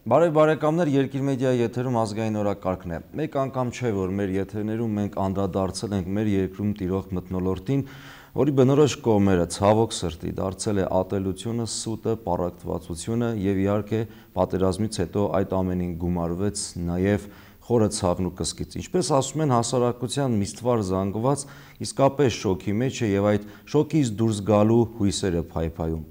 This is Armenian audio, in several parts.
Բարև բարեկամներ, Երկիր մեդիայի եթերում ազգային օրակարգն է։ Մեկ անգամ չէ, որ մեր եթերներում մենք անդրադարձել ենք մեր երկրում տիրող մթնոլորտին, որի բնորոշ կողմերը ցավոք սրտի դարձել է ատելությունը, սուտը, պառակտվածությունը եւ իհարկե պատերազմից հետո այդ ամենին գումարվեց նաեւ խորը ցավն ու կսկիծ։ Ինչպես ասում են, հասարակության միստվար զանգված իսկապես շոկի մեջ է եւ այդ շոկից դուրս գալու հույսերը փայփայում։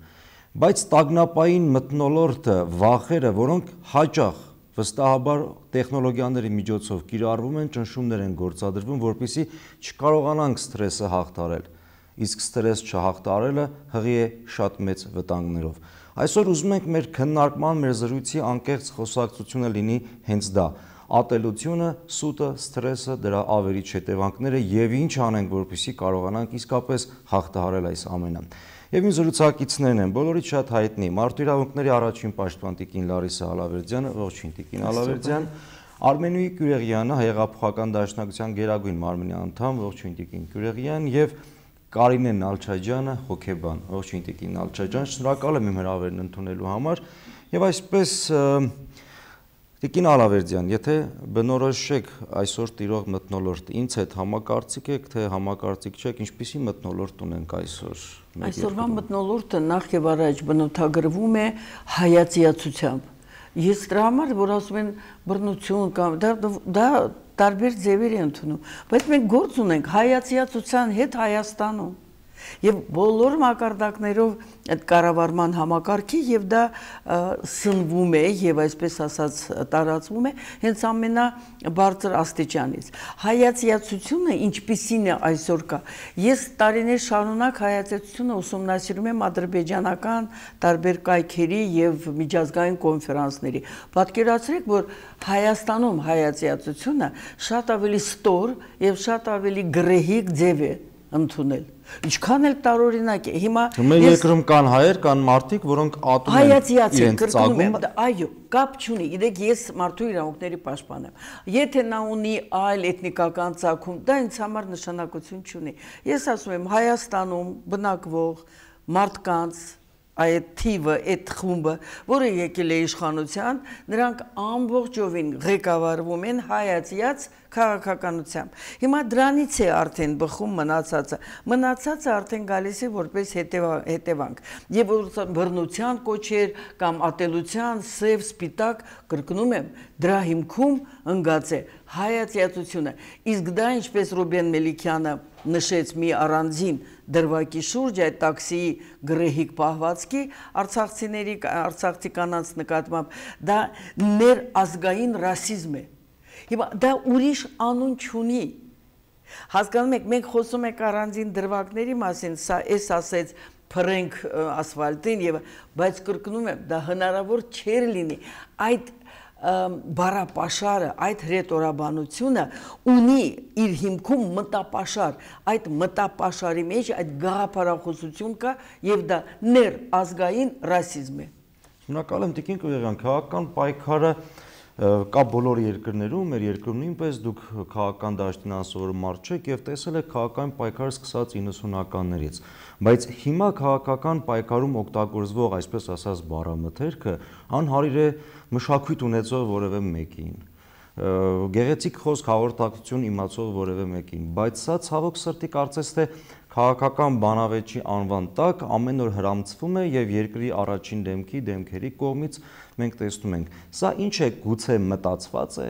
Բայց տագնապային մթնոլորտը, վախերը, որոնք հաճախ վստահաբար տեխնոլոգիաների միջոցով կիրառվում են, ճնշումներ են գործադրվում, որպեսզի չկարողանանք սթրեսը հաղթահարել։ Իսկ սթրես չհաղթահարելը հղի է շատ մեծ վտանգներով։ Այսօր ուզում ենք մեր քննարկման, մեր զրույցի անկեղծ խոսակցությունը լինի հենց դա։ Ատելությունը, սուտը, սթրեսը, դրա ավերիչ հետևանքները եւ ինչ անենք, որպեսզի կարողանանք իսկապես հաղթահարել այս ամենը։ Եվ իմ զրուցակիցներն են, բոլորից շատ հայտնի Մարդու իրավունքների առաջին պաշտպան տիկին Լարիսա Ալավերդյանը, ողջույն տիկին Ալավերդյան, Արմենուհի Կյուրեղյանը, Հեղափոխական դաշնակցության գերագույն մարմնի անդամ, ողջույն տիկին Կյուրեղյան եւ Կարինե Նալչաջյանը, հոգեբան, ողջույն տիկին Նալչաջյան, շնորհակալ եմ իմ հրավերն ընդունելու համար եւ այսպես Տիկին Ալավերդյան, եթե բնորոշեք այսօր տիրող մթնոլորտը, ինձ հետ համակարծիք եք, թե համակարծիք չեք, ինչպիսի մթնոլորտ ունենք այսօր։ Այսօրվա մթնոլորտը նախ եւ առաջ բնութագրվում է հայացիացությամբ։ Ես դրա համար, որ ասում են բռնություն կամ դա տարբեր ձևեր են ընդունում, բայց մենք գործ ունենք հայացիացության հետ Հայաստանում։ Եվ բոլոր մակարդակներով այդ կառավարման համակարգի եւ դա սնվում է եւ այսպես ասած տարածվում է հենց ամենաբարձր աստիճանից։ Հայացիացությունը ինչպիսին է այսօր կա։ Ես տարիներ շարունակ հայացիացությունը ուսումնասիրում եմ ադրբեջանական տարբեր կայքերի եւ միջազգային կոնֆերանսների։ Պատկերացրեք, որ Հայաստանում հայացիացությունը շատ ավելի ստոր եւ շատ ավելի գռեհիկ ձև է ընդունել։ Ինչքան էլ տարօրինակ է։ Հիմա մեր երկրում կան հայեր, կան մարդիկ, որոնք ատում են իրենց ծագումը։ Այո, կապ չունի։ Գիտեք, ես մարդու իրավունքների պաշտպան եմ։ Եթե նա ունի այլ էթնիկական ծագում, դա ինձ համար նշանակություն չունի։ Ես ասում եմ, Հայաստանում բնակվող մարդկանց այդ թիվը, այդ խումբը, որը եկել է իշխանության, նրանք ամբողջովին ղեկավարվում են հայացիած քաղաքականությամբ։ Հիմա դրանից է արդեն բխում մնացածը արդեն գալիս է որպես հետևանք։ Եվ բռնության կոչեր կամ ատելության, սև, սպիտակ, կրկնում եմ, դրա հիմքում ընկած է հայացիացությունը։ Իսկ դա, ինչպես Ռուբեն Մելիքյանը նշեց մի առանձին դրվագի շուրջ այդ տաքսիի գռեհիկ պահվածքի արցախցի կանանց նկատմամբ, դա ներազգային ռասիզմ է։ Հիմա դա ուրիշ անուն չունի։ Հասկանում եք, մենք խոսում ենք առանձին դրվագների մասին, սա էս ասեց փռենք ասֆալտին եւ բայց կրկնում եմ, դա հնարավոր չէր լինի։ Այդ բառապաշարը, այդ հրետորաբանությունը ունի իր հիմքում մտապաշար, այդ մտապաշարի մեջ այդ գաղափարախոսություն կա եւ դա ներազգային ռասիզմ է։ Շնորհակալ եմ տիկին Կյուրեղյան, քաղաքական պայքարը կա բոլոր երկրներում, մեր երկրում նույնպես դուք քաղաքական դաշտին անսովոր մարդ չեք եւ տեսել եք քաղաքական պայքարը սկսած 90-ականներից, բայց հիմա քաղաքական պայքարում օգտագործվող այսպես ասած բառամթերքը անհարիր է մշակույթ ունեցող որևէ մեկին, գեղեցիկ խոսք հաղորդակցություն իմացող որևէ մեկին, բայց սա ցավոք սրտի կարծես թե քաղաքական բանավեճի անվան տակ ամեն օր հրամցվում է եւ երկրի առաջին դեմքերի կողմից մենք տեսնում ենք։ Սա ինչ է, գուցե մտածված է,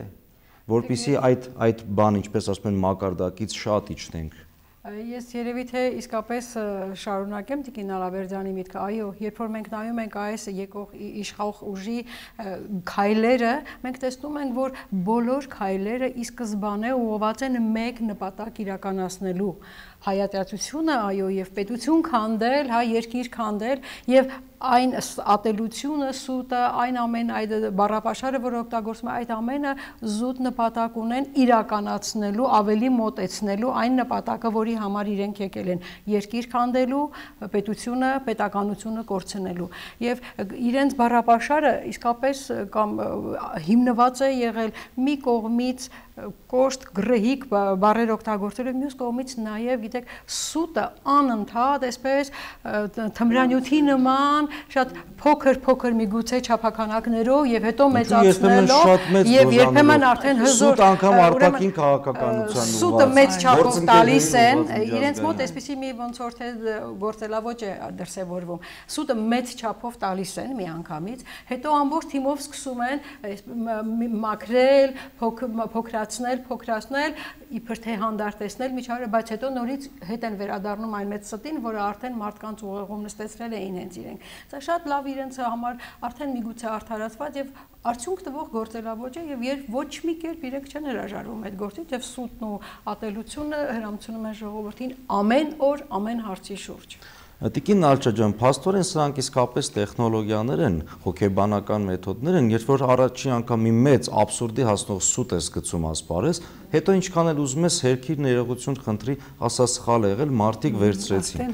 որpիսի այդ բան, ինչպես ասում են, մակարդակից շատ իջնենք։ Ես երևի թե իսկապես շարունակեմ տիկին Ալավերդյանի միտքը, այո, երբ որ մենք նայում ենք այս եկող իշխող ուժի քայլերը, մենք տեսնում ենք, որ բոլոր քայլերը ի սկզբանե ուղղված են մեկ նպատակ իրականացնելու հայատյացությունը, այո, եւ պետություն քանդել, հա, երկիր քանդել եւ այն ատելությունը, սուտը, այն ամեն այդ բառապաշարը, որ օգտագործվում է, այդ ամենը զուտ նպատակ ունեն իրականացնելու, ավելի մոտեցնելու այն նպատակը, որի համար իրենք եկել են երկիր քանդելու, պետությունը, պետականությունը կորցնելու։ Եվ իրենց բառապաշարը իսկապես կամ հիմնված է եղել մի կողմից կոշտ, գրեհիկ բառեր օգտագործել, մյուս կողմից նաև, գիտեք, սուտը անընդհատ, այսպես թմրանյութի նման, շատ փոքր միգուցե չափականակներով եւ հետո մեծացնելով եւ երբեմն արդեն հզոր սուտ անգամ արտաքին քաղաքականության սուտը մեծ չափով տալիս են, իրենց մոտ այսպեսի մի ոնց որ թե գործելավոճ է դրսևորվում։ Սուտը մեծ չափով տալիս են միանգամից, հետո ամբողջ թիմով սկսում են մաքրել, փոքրացնել, իբր թե հանդարտեցնել միջավայրը, բայց հետո նորից հետ են վերադառնում այն մեծ ստին, որը արդեն մարդկանց ուղեղում նստեցրել էին հենց իրենք։ Սա շատ լավ իրենց համար արդեն միգուցե արդարացված եւ արդյունք տվող գործելավոճ է եւ երբ ոչ մի կերպ իրենք չեն հրաժարվում այդ գործից եւ սուտն ու ատելությունը հրամցնում են ժողովրդին ամեն օր, ամեն հարցի շուրջ։ Տիկին Նալչա ջան, փաստորեն սրանք իսկապես տեխնոլոգիաներ են, հոգեբանական մեթոդներ են, երբ որ առաջին անգամ մի մեծ աբսուրդի հասնող սուտ ես գցում ասպարեզ, հետո ինչքան էլ ուզում ես հերքիր ներողություն խնդրի, ասա սխալ եղել, մարդիկ վերցրեցին։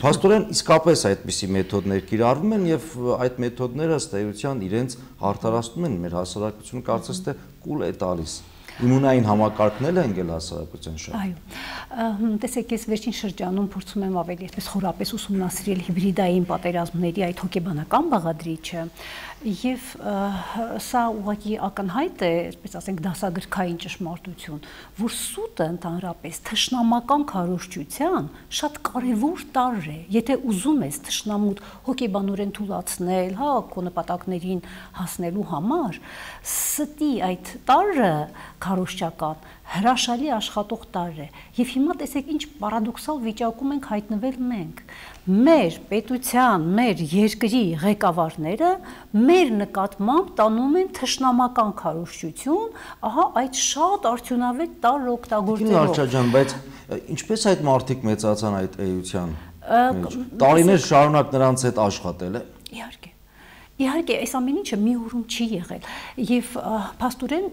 Փաստորեն իսկապես այդպիսի մեթոդներ կիրառվում են եւ այդ մեթոդները ըստ էության իրենց արդարացնում են մեր հասարակությունը, կարծես թե կուլ է տալիս։ Իմունային համակարգն են գել հասարակության շահ։ Այո, տեսեք, ես վերջին շրջանում փորձում եմ ավելի այսպես խորապես ուսումնասիրել հիբրիդային պատերազմների այդ հոգեբանական բաղադրիչը եւ սա ուղղակի ակնհայտ է, այսպես ասենք, դասագրքային ճշմարտություն, որ սուտը ընդհանրապես թշնամական քարոզչության շատ կարևոր տարր է, եթե ուզում ես թշնամուտ հոգեբանորեն թույլաtsնել, հա, քո նպատակներին հասնելու համար, ստի այդ տարը քարոզչական հրաշալի աշխատող տարր է եւ հիմա տեսեք ինչ պարադոքսալ վիճակում ենք հայտնվել մենք մեր պետության, մեր երկրի ղեկավարները մեր նկատմամբ տանում են թշնամական քարոզչություն, ահա այդ շատ արդյունավետ տարր օգտագործելով։ Նալչա ջան, բայց ինչպես այդ մարդիկ մեծացան այդ էության մեջ։ Տարիներ շարունակ նրանց հետ աշխատել է։ Իհարկե, այս ամեն ինչը մի օրում չի եղել եւ փաստորեն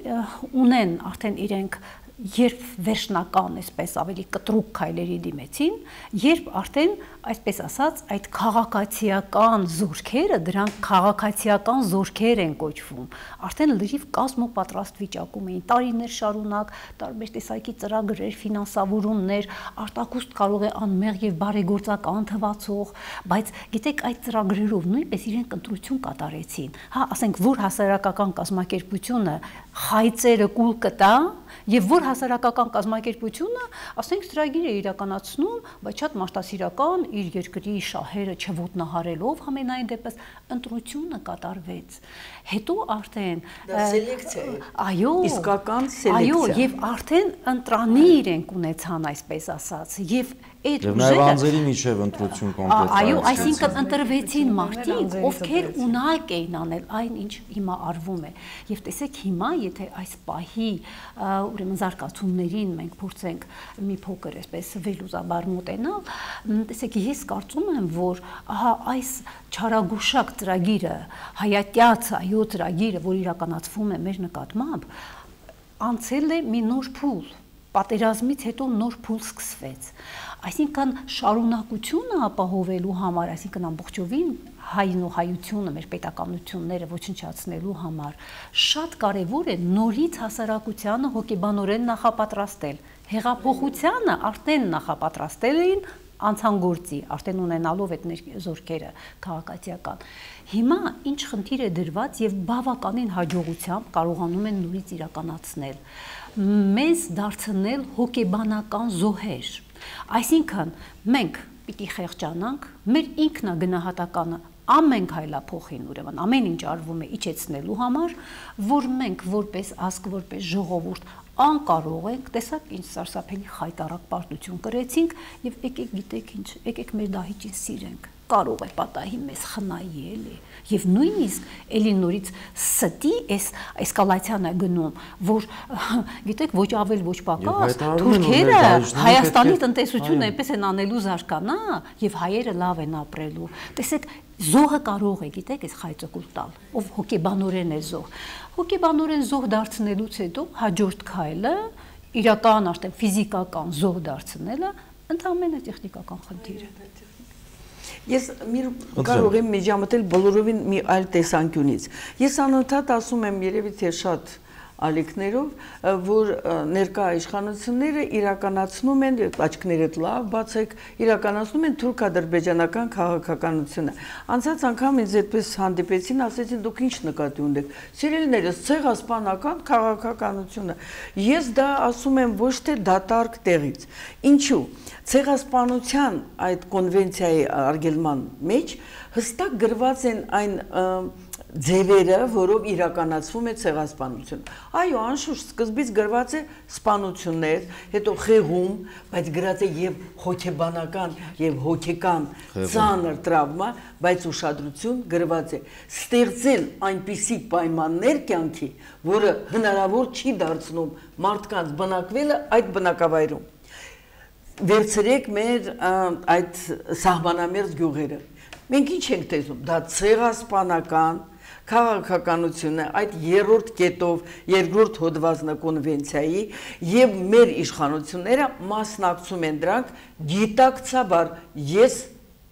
ունեն արդեն իրենք երբ վերջնական, այսպես ավելի կտրուկ քայլերի դիմեցին, երբ արդեն, այսպես ասած, այդ քաղաքացիական զորքերը, դրանք քաղաքացիական զորքեր են կոչվում, արդեն լրիվ կազմոպատրաստ վիճակում էին, տարիներ շարունակ, տարբեր տեսակի ծրագրեր, ֆինանսավորումներ, արտակուստ կարող է անմեղ եւ բարեգործական թվացող, բայց գիտեք, այդ ծրագրերով նույնպես իրենք ընտրություն կատարեցին, հա, ասենք, որ հասարակական կազմակերպությունը խայծերը կուլ կտա եւ որ հասարակական կազմակերպությունը, ասենք, ծրագիր է իրականացնում, բայց շատ մարդասիրական իր երկրի շահերը չոտնահարելով համենայն դեպս ընտրությունը կատարվեց։ Հետո արդեն դա սելեկցիա է։ Այո, իսկական սելեկցիա։ Այո, եւ արդեն ընտրանի իրենք ունեցան, այսպես ասած, եւ այդ ուժերը նաեւ անձերի միջև ընտրություն կոնկրետ։ Այո, այսինքն ընտրվեցին մարդիկ, ովքեր ունակ էին անել այն, ինչ հիմա արվում է։ Եվ տեսեք հիմա, եթե այս պահի ուրեմն զարգացումներին մենք փորձենք մի փոքր այսպես վերլուծաբար մոտենալ, տեսեք, ես կարծում եմ, որ ահա այս չարագուշակ ծրագիրը, հայատյաց այո ծրագիրը, որ իրականացվում է մեր նկատմամբ, անցել է մի նոր փուլ, պատերազմից հետո նոր փուլ սկսվեց։ Այսինքն շարունակությունը ապահովելու համար, այսինքն ամբողջովին հայն ու հայությունը, մեր պետականությունները ոչնչացնելու համար, շատ կարևոր է նորից հասարակությանը հոգեբանորեն նախապատրաստել։ Հեղափոխությանը արդեն նախապատրաստել էին անցանգործի, արդեն ունենալով այդ զորքերը քաղաքացիական։ Հիմա ինչ խնդիր է դրված եւ բավականին հաջողությամբ կարողանում են նորից իրականացնել։ Մեզ դարձնել հոգեբանական զոհեր։ Այսինքն մենք պիտի խեղճանանք, մեր ինքնագնահատականը ամեն քայլափոխին, ուրեմն ամեն ինչ արվում է իջեցնելու համար, որ մենք որպես ազգ, որպես ժողովուրդ անկարող ենք, տեսակ ինչ սարսափելի խայտառակ պարտություն կրեցինք եւ եկեք գիտեք ինչ, եկեք մեր դահիճին սիրենք, կարող է պատահի մեզ խնայի էլի եւ նույնիսկ էլի նորից ստի այս էսկալացիան է գնում, որ գիտեք ոչ ավել ոչ պակաս թուրքերը Հայաստանի տնտեսությունը այնպես են անելու զարգանա եւ հայերը լավ են ապրելու։ Տեսեք, զոհը կարող է, գիտեք, այս խայծը տալ, ով հոգեբանորեն է զոհ։ Հոգեբանորեն զոհ դարձնելուց հետո հաջորդ քայլը իրական արդեն ֆիզիկական զոհ դարձնելը ընդհանրապես տեխնիկական խնդիր է։ Ես կարող եմ միջամտել բոլորովին մի այլ տեսանկյունից։ Ես անընդհատ ասում եմ երևի թե շատ ալիքներով, որ ներկա իշխանությունները իրականացնում են, աչքներդ լավ բացեք, իրականացնում են թուրք-ադրբեջանական քաղաքականությունը։ Անցած անգամ ինձ այդպես հանդիպեցին, ասեցին դուք ինչ նկատի ունեք։ Սիրելիներս, ցեղասպանական քաղաքականությունը։ Ես դա ասում եմ ոչ թե դատարկ տեղից։ Ինչու՞։ Ցեղասպանության այդ կոնվենցիայի արգելման մեջ հստակ գրված են այն ձևերը, որով իրականացվում է ցեղասպանությունը։ Այո, անշուշտ սկզբից գրված է սպանություններ, հետո խեղում, բայց գրած է եւ հոգեբանական եւ հոգեկան ծանր տրավմա, բայց ուշադրություն գրված է ստեղծել այնպիսի պայմաններ կյանքի, որը հնարավոր չի դարձնում մարդկանց բնակվելը այդ բնակավայրում։ Վերցրեք մեր այդ սահմանամերձ գյուղերը։ Մենք ինչ ենք տեսնում, դա ցեղասպանական քաղաքականությունը այդ երրորդ կետով երկրորդ հոդվածն կոնվենցիայի եւ մեր իշխանությունները մասնակցում են դրանք գիտակցաբար ես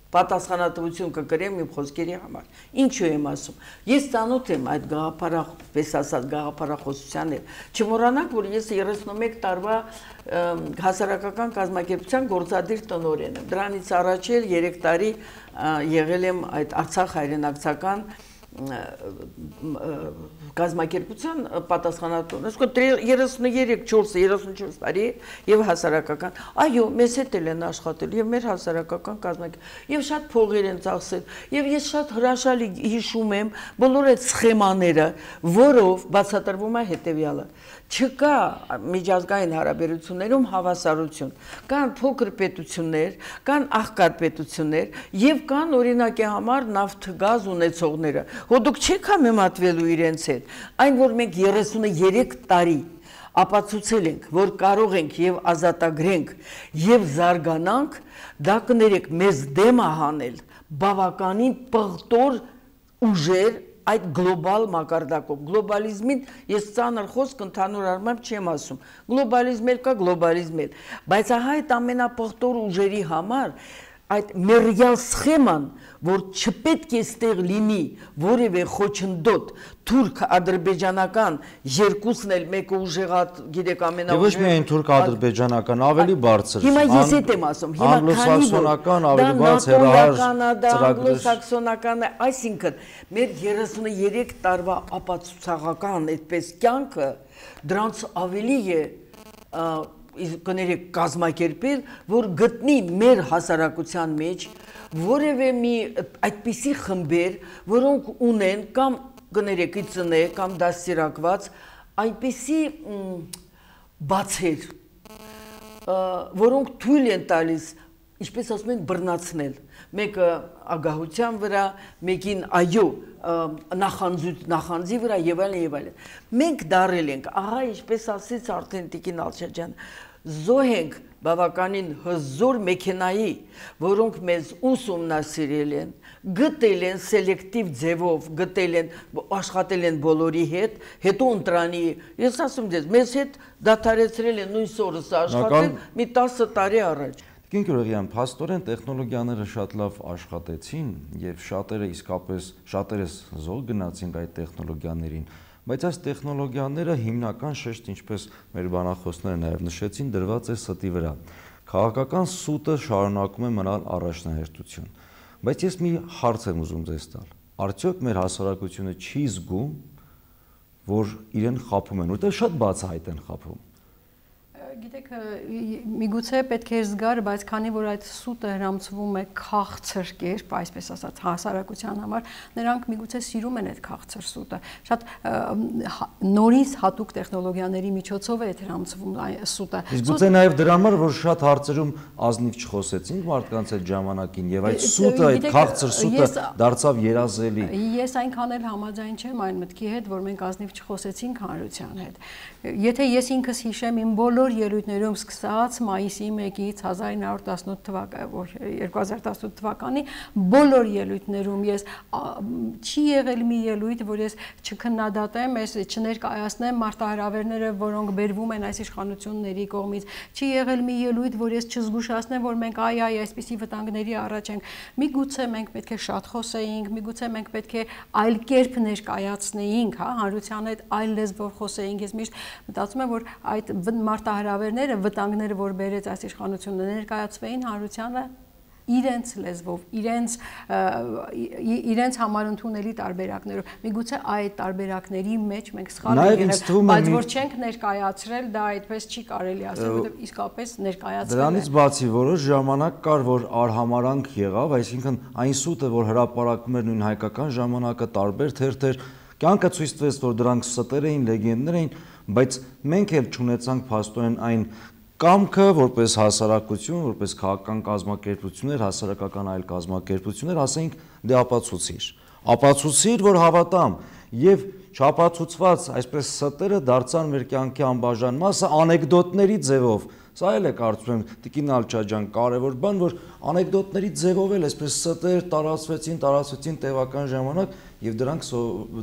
պատասխանատվություն կկրեմ իմ խոսքերի համար։ Ինչու եմ ասում։ Ես ծանոթ եմ այդ գաղափարախ, պես ասած, գաղափարախոսության հետ։ Չմոռանաք, որ ես 31 տարվա հասարակական կազմակերպության գործադիր տնօրեն եմ։ Դրանից առաջ էլ 3 տարի եղել եմ այդ Արցախ հայրենակցական կազմակերպության պատասխանատուն, այսինքն 33-34 տարի եւ հասարակական, այո, մեզ հետ են աշխատել եւ մեր հասարակական կազմակերպ եւ շատ փողեր են ծախսել եւ ես շատ հրաշալի հիշում եմ բոլոր այդ սխեմաները, որով բացատրվում է հետեւյալը. չկա միջազգային հարաբերություններում հավասարություն, կան փոքր պետություններ, կան աղքատ պետություններ եւ կան օրինակի համար նավթ գազ ունեցողները, որ դուք չեք համեմատվելու իրենց հետ, այն որ մենք 33 տարի ապացուցել ենք, որ կարող ենք եւ ազատագրենք եւ զարգանանք, դա կներեք մեզ դեմ է հանել բավականին պղտոր ուժեր այդ գլոբալ մակարդակով, գլոբալիզմին ես ծանր խոսք ընդհանուր առմամբ չեմ ասում, գլոբալիզմ էլ կա, գլոբալիզմ էլ, բայց ահա այդ ամենապղտոր ուժերի համար այդ մերյալ սխեման, որ չպետք է ստեղ լինի որևէ խոչընդոտ թուրք-ադրբեջանական երկուսն էլ մեկը ուժեղատ, գիտեք ամենաուժեղ։ Ոչ միայն թուրք-ադրբեջանական, ավելի բարձր։ Հիմա ես էդ եմ ասում, հիմա անգլոսաքսոնական ավելի բարձր հերահար անգլոսաքսոնական, այսինքն մեր 33 տարվա ապացուցողական այդպես կյանքը դրանց ավելի է կներեք կազմակերպել, որ գտնի մեր հասարակության մեջ որևէ մի այդպիսի խմբեր, որոնք ունեն կամ կներեք իծնե կամ դաստիարակված այնպիսի բացեր, որոնք թույլ են տալիս, ինչպես ասում են, բռնացնել, մեկը ագահության վրա, մեկին այո նախանձի վրա եւ այլն եւ այլն։ Մենք դարել ենք, ահա ինչպես ասեց արդեն Տիկին Ալշաջյանը, զոհ ենք բավականին հզոր մեքենայի, որոնք մեզ ուսումնասիրել են, գտել են սելեկտիվ ձևով, գտել են, աշխատել են բոլորի հետ, հետո ընտրանի, ես ասում ձեզ, մեզ հետ դադարեցրել են նույն սորս աշխատել մի 10 տարի առաջ։ Տիկին Գյուրգյան, փաստորեն տեխնոլոգիաները շատ լավ աշխատեցին եւ շատերը իսկապես շատերս զոհ գնացինք այդ տեխնոլոգիաներին, բայց այս տեխնոլոգիաները հիմնական շեշտ, ինչպես մեր բանախոսները նաեւ նշեցին, դրված է ստի վրա։ Քաղաքական սուտը շարունակում է մնալ առաջնահերթություն։ Բայց ես մի հարց եմ ուզում ձեզ տալ։ Արդյոք մեր հասարակությունը չի զգում, որ իրեն խաբում են, որտեղ շատ բացահայտ են խաբում։ Գիտեք, միգուցե պետք է զգար, բայց քանի որ այդ սուտը հրամցվում է քաղցր կերպ, այսպես ասած, հասարակության համար, նրանք միգուցե սիրում են այդ քաղցր սուտը։ Շատ նորից հատուկ տեխնոլոգիաների միջոցով է հրամցվում սուտը։ Իսկ գուցե նաև դրա համար, որ շատ հարցերում ազնիվ չխոսեցինք մարդկանց այդ ժամանակին եւ այդ սուտը, այդ քաղցր սուտը դարձավ երազելի։ Ես այնքան էլ համաձայն չեմ այն մտքի հետ, որ մենք ազնիվ չխոսեցինք հանրության հետ։ Եթե ես ինքս հիշեմ իմ բոլոր ելույթներում սկսած մայիսի 1-ից 2018 թվականի բոլոր ելույթներում ես չի եղել մի ելույթ, որ ես չքննադատեմ, ես չներկայացնեմ մարտահրավերները, որոնք բերվում են այս իշխանությունների կողմից, չի եղել մի ելույթ, որ ես չզգուշացնեմ, որ մենք այսպիսի վտանգների առաջ ենք։ Միգուցե մենք պետք է շատ խոսեինք, միգուցե մենք պետք է այլ կերպ ներկայացնեինք, հանրության հետ այլ լեզվով խոսեինք։ Ես միշտ մտածում եմ, որ այդ մարտահրավերները, վտանգները, որ բերեց այս իշխանությունը, ներկայացվեին հանրությանը իրենց լեզվով, իրենց համար ընդունելի տարբերակներով։ Միգուցե այդ տարբերակների մեջ մենք սխալ ենք եղել, բայց որ չենք ներկայացրել, դա այդպես չի կարելի ասել, որովհետև իսկապես ներկայացրել է։ Դրանից բացի որոշ ժամանակ կար, որ արհամարանք եղավ, այսինքն այն սուտը, որ հրապարակում էր նույն հայկական ժամանակը, տարբեր թերթեր, կյանքը ցույց տվեց, որ դրանք ստեր էին, լեգենդներ էին, բայց մենք էլ չունեցանք փաստորեն այն կամքը, որպես հասարակություն, որպես քաղաքական կազմակերպություններ, հասարակական այլ կազմակերպություններ, ասենք դե ապացուցիր, որ հավատամ, եւ չապացուցված այսպես ստերը դարձան մեր կյանքի անբաժան մասը անեկդոտների ձևով։ Սա էլ է կարծում եմ Տիկին Ալչաջյան կարևոր բան, որ անեկդոտների ձևով էլ այսպես ստեր տարածվեցին տևական ժամանակ եւ դրանք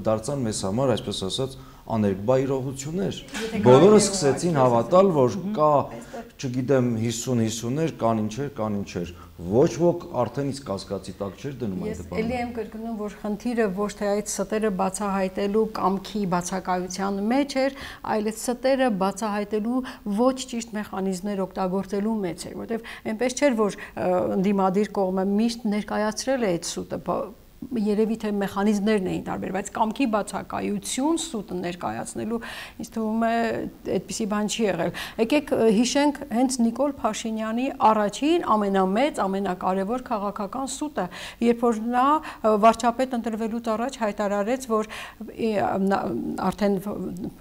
դարձան մեզ համար, այսպես ասած, աներկբա իրողություններ։ Բոլորը սկսեցին հավատալ, որ կա, չգիտեմ, 50-50-ներ, կան ինչեր, ոչ ոք արդեն իսկ կասկածի տակ չէր դնում այդ բանը։ Ես էլի եմ կրկնում, որ խնդիրը ոչ թե այդ ստերը բացահայտելու կամքի բացակայության մեջ էր, այլ այդ ստերը բացահայտելու ոչ ճիշտ մեխանիզմներ օգտագործելու մեջ էր, որովհետև այնպես չէր, որ ընդդիմադիր կողմը միշտ ներկայացրել է այդ սուտը, երևի թե մեխանիզմներն էին տարբեր, բայց կամքի բացակայություն սուտը ներկայացնելու ինձ թվում է այդպիսի բան չի եղել։ Եկեք հիշենք հենց Նիկոլ Փաշինյանի առաջին ամենամեծ, ամենակարևոր քաղաքական սուտը, երբ որ նա վարչապետ ընտրվելուց առաջ հայտարարեց, որ արդեն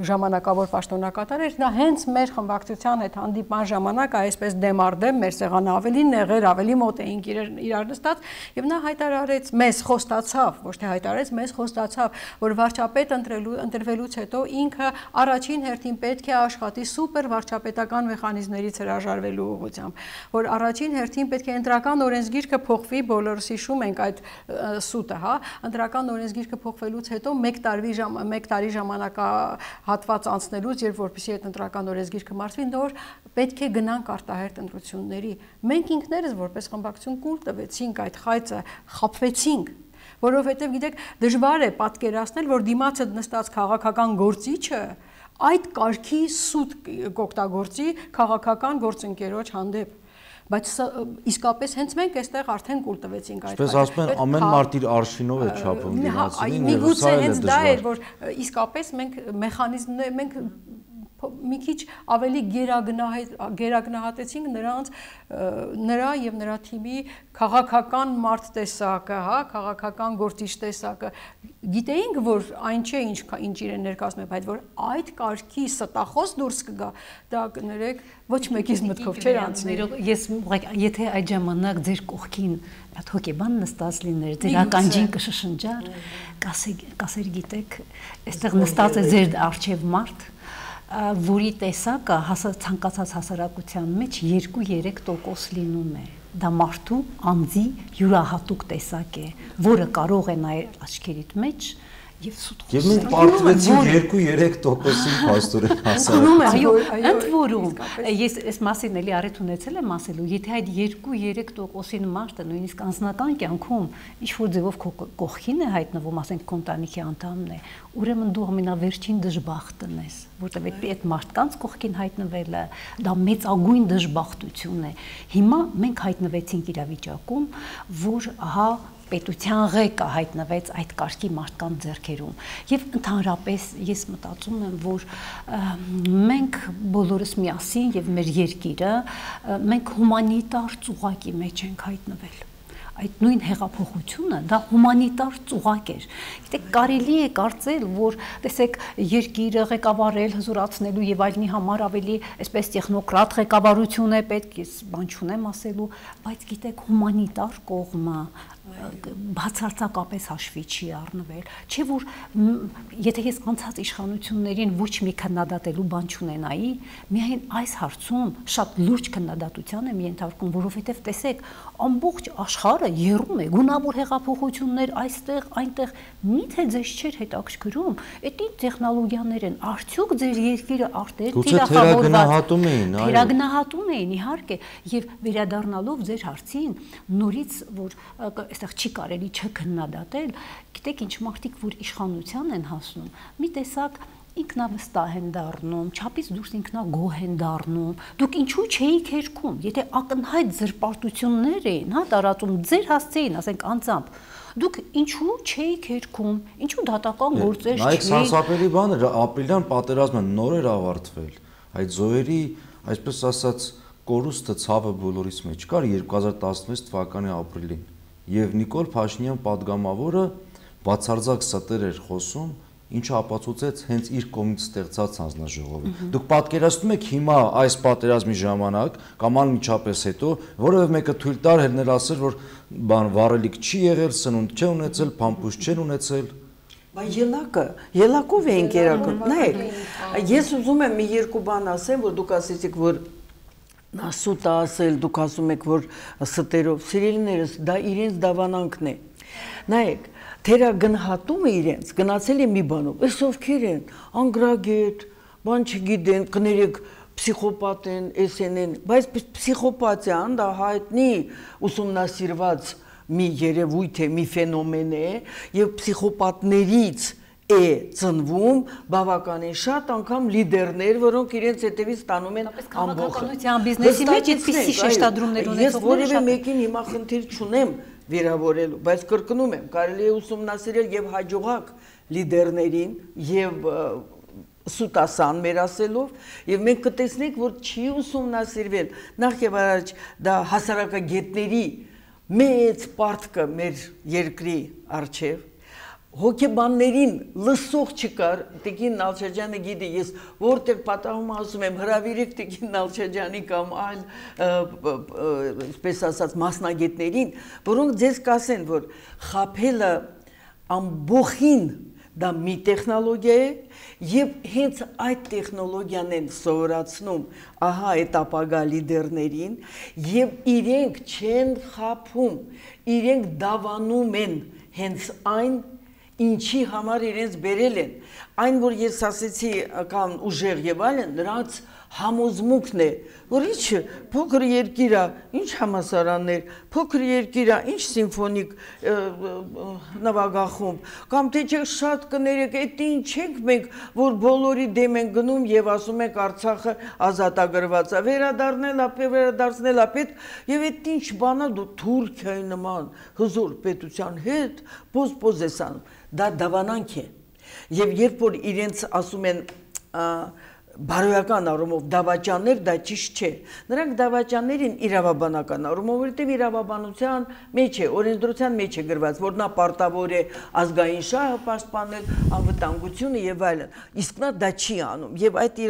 ժամանակավոր պաշտոնակատար էր, նա հենց մեր խմբակցության հետ հանդիպման ժամանակ այսպես դեմարդեմ մեր սեղանը ավելի նեղեր, ավելի մոտ էինք իրար նստած, եւ նա հայտարարեց մեզ ոչ թե հայտարարեց, մեզ խոստացավ, որ վարչապետ ընտրվելուց հետո ինքը առաջին հերթին պետք է աշխատի սուպեր վարչապետական մեխանիզմներից հրաժարվելու ուղղությամբ, որ առաջին հերթին պետք է ընտրական օրենսգիրքը փոխվի, բոլորս հիշում ենք այդ սուտը, ընտրական օրենսգիրքը փոխվելուց հետո 1 տարի ժամանակահատված անցնելուց, երբ որպեսզի այդ ընտրական օրենսգիրքը մարտվի, նոր պետք է գնանք արտահերթ ընտրությունների։ Մենք ինքներս որպես խմբակցություն կուլ տվեցինք այդ խայծը, խաբվեցինք, որովհետև գիտեք, դժվար է պատկերացնել, որ դիմացը նստած քաղաքական գործիչը այդ կարգի սուտ կօգտագործի քաղաքական գործընկերոջ հանդեպ, բայց իսկապես հենց մենք այստեղ արդեն կուլ տվեցինք այդ։ Այսպես ասում են, ամեն մարդ իր արշինով է չափում դիմացին, միգուցե հենց դա էր, որ իսկապես մենք մեխանիզմներ, մենք մի քիչ ավելի գերագնահատեցինք նրա եւ նրա թիմի քաղաքական մարդ տեսակը, քաղաքական գործիչ տեսակը։ Գիտեինք, որ այն չէ, ինչ իրեն ներկայացնում է, բայց որ այդ կարգի ստախոս դուրս կգա, դա կներեք ոչ մեկից մտքով չէր անցնի։ Ես եթե այդ ժամանակ ձեր կողքին այդ հոգեբան նստած լիներ, ձեր ականջին կշշնջար, կասեր գիտեք, այստեղ նստած է ձեր առջև մարդ, որի տեսակը ցանկացած հասարակության մեջ 2-3% լինում է։ Դա մարդու անձի յուրահատուկ տեսակ է, որը կարող է նայել աչքերիդ մեջ եւ սուտ խոսել։ Եվ մենք պարտվեցինք 2-3%-ին փաստորեն հասարակություն։ Այո, ընդ որում, ես այս մասին էլի առիթ ունեցել եմ ասելու, եթե այդ 2-3%-ին մարդը նույնիսկ անձնական կյանքում ինչ-որ ձևով քո կողքին է հայտնվում, ասենք քո ընտանիքի անդամն է, ուրեմն դու ամենավերջին դժբախտն ես, որտեղ այդ մարդկանց կողքին հայտնվելը դա մեծագույն դժբախտություն է։ Հիմա մենք հայտնվեցինք իրավիճակում, որ ահա պետության ղեկը հայտնվեց այդ կարգի մարդկանց ձեռքերում եւ ընդհանրապես ես մտածում եմ, որ մենք բոլորս միասին եւ մեր երկիրը մենք հումանիտար ծուղակի մեջ ենք հայտնվել։ Այդ նույն հեղափոխությունը դա հումանիտար ծուղակ էր։ Գիտեք, կարելի է կարծել, որ տեսեք երկիրը ղեկավարել, հզորացնելու եւ այլնի համար ավելի այսպես տեխնոկրատ ղեկավարություն է պետք, ես բան չունեմ ասելու, բայց գիտեք, հումանիտար կողմը բացարձակապես հաշվի չի առնվել, չէ որ եթե ես անցած իշխանություններին ոչ մի քննադատելու բան չունենայի, միայն այս հարցում շատ լուրջ քննադատության եմ ենթարկում, որովհետև տեսեք, ամբողջ աշխարհը եռում է գունավոր հեղափոխություններ այստեղ, այնտեղ, միթե ձեզ չէր հետաքրքրում, այդ ինչ տեխնոլոգիաներ են, արդյոք ձեր երկիրը արտեր թիրախավորված իհարկե, եւ վերադառնալով ձեր հարցին, նորից որ այստեղ չի կարելի չքննադատել, գիտեք ինչ մարդիկ որ իշխանության են հասնում, մի տեսակ ինքնավստահ են դառնում, չափից դուրս ինքնագոհ են դառնում, դուք ինչու չէիք հերքում, եթե ակնհայտ զրպարտություններ էին, հա, տարածում ձեր հասցեին, ասենք անձամբ, դուք ինչու չէիք հերքում, ինչու դատական գործեր չէիք։ Նայեք սարսափելի բանը, ապրիլյան պատերազմը նոր էր ավարտվել, այդ զոհերի, այսպես ասած, կորուստը ցավը բոլորիս մեջ կար 2016 թվականի ապրիլին եւ Նիկոլ Փաշինյան падգամավորը բացարձակ ստեր էր խոսում, ինչը ապացուցեց հենց իր կողմից ստեղծած հանձնաժողովը։ Դուք պատկերացնում եք հիմա այս պատերազմի ժամանակ կամ անմիջապես հետո որևէ մեկը թույլ տար հերներ ասել, որ բան վառելիք չի եղել, սնունդ չի ունեցել, փամփուշտ չեն ունեցել։ Բայց ելակով էին կերակրում։ Նայեք, ես ուզում եմ մի երկու բան ասեմ, որ դուք ասեցիք, որ նա սուտ է ասել, դուք ասում եք, որ ստերով, սիրելիներս, դա իրենց դավանանքն է։ Նայեք, թերագնահատումը իրենց գնացել է մի բանով, այս ովքեր են, անգրագետ, բան չգիտեն, կներեք, պսիխոպատ են, էսեն են, բայց պսիխոպատիան դա հայտնի ուսումնասիրված մի երևույթ է, մի ֆենոմեն է, եւ պսիխոպատներից է ծնվում բավականին շատ անգամ լիդերներ, որոնք իրենց հետևից ստանում են ամբողջ քաղաքականության բիզնեսի մեջ այդպիսի շեշտադրումներ ունեցողներ։ Ես որևէ մեկին հիմա խնդիր չունեմ վերավորելու, բայց կրկնում եմ, կարելի է ուսումնասիրել եւ հաջողակ լիդերներին եւ սուտասան մեր ասելով եւ մենք կտեսնենք, որ չի ուսումնասիրվել նախ եւ առաջ դա հասարակագետների մեծ պարտքը մեր երկրի արչեւ հոգեբաններին լսող չկար, Տիկին Նալչաջյանը գիտի, ես որտեղ պատահում ասում եմ, հրավիրեք Տիկին Նալչաջյանի կամ այլ, այսպես ասած, մասնագետներին, որոնք ձեզ կասեն, որ խաբելը ամբողին դա մի տեխնոլոգիա է եւ հենց այդ տեխնոլոգիան են սովորացնում ահա այդ ապագա լիդերներին եւ իրենք չեն խաբում, իրենք դավանում են հենց այն ինչի համար իրենց բերել են, այն որ ես ասեցի կամ ուժեղ եւ այլն, նրանց համոզմունքն է, որ ինչ փոքր երկիր է, ինչ համասարաններ, փոքր երկիր է, ինչ սիմֆոնիկ նվագախումբ, կամ թե չէ շատ կներեք, այդ ինչ ենք մենք, որ բոլորի դեմ են գնում եւ ասում ենք Արցախը ազատագրված է, վերադարձնել է պետք, եւ այդ ինչ բանա դու Թուրքիայի նման հզոր պետության հետ պոզ ես անում, դա դավանանք է, եւ երբ որ իրենց ասում են բարոյական առումով դավաճաններ դա ճիշտ չէ։ Նրանք դավաճաններ են իրավաբանական առումով, որտեղ իրավաբանության մեջ է, օրենսդրության մեջ է գրված, որ նա պարտավոր է ազգային շահը պաշտպանել, անվտանգությունը եւ այլն։ Իսկ նա դա չի անում եւ այդ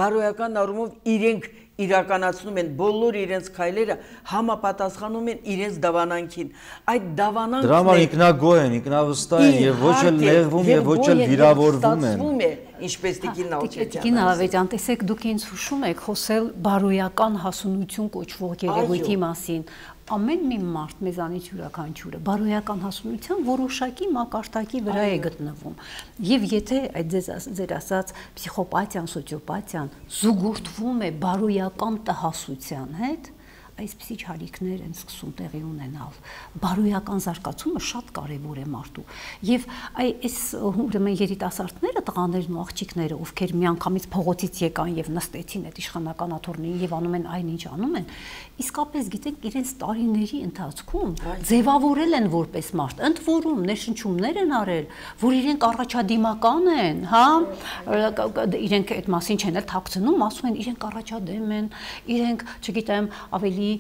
բարոյական առումով իրենք իրականացնում են բոլոր իրենց քայլերը համապատասխանում են իրենց դավանանքին։ Այդ դավանանքն դրա համար ինքնագոհ են, ինքնավստահ են եւ ոչ էլ նեղվում եւ ոչ էլ վիրավորվում են։ Ինչպես Տիկին Նալչաջյանը։ Տիկին Ալավերյան, տեսեք, դուք ինձ հուշում եք խոսել բարոյական հասունություն կոչվող երևույթի մասին։ Ամեն մի մարդ մեզանից յուրաքանչյուրը բարոյական հասունության որոշակի մակարդակի վրա է գտնվում։ Եվ եթե այդ ձեր ասած պսիխոպաթիան, սոցիոպաթիան զուգորդվում է բարոյական տհասության հետ, այսպիսի չարիքներ են սկսում տեղի ունենալ։ Բարոյական զարգացումը շատ կարևոր է մարդու։ Եվ այս ուրեմն երիտասարդները, տղաներն ու աղջիկները, ովքեր միանգամից փողոցից եկան եւ նստեցին այդ իշխանական աթոռներին եւ անում են այն ինչ անում են, իսկապես գիտենք իրենց տարիների ընթացքում ձևավորել են որպես մարդ, ընդ որում ներշնչումներ են արել, որ իրենք առաջադիմական են, հա, իրենք այդ մասին չեն էլ թաքցնում, ասում են իրենք առաջադեմ են, իրենք, չգիտեմ, ավելի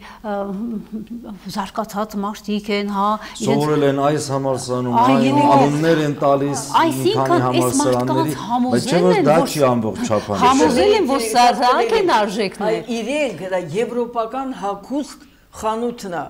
զարգացած մարդիկ են, հա, սովորել են այս համալսարանում, անուններ են տալիս մի քանի համալսարանների, բայց չէ՞ որ դա չի ամբողջ չափանիշ։ Համոզել են, որ սրանք են արժեքներ։ Իրենք դա եվրոպական հագուստ խանութն է,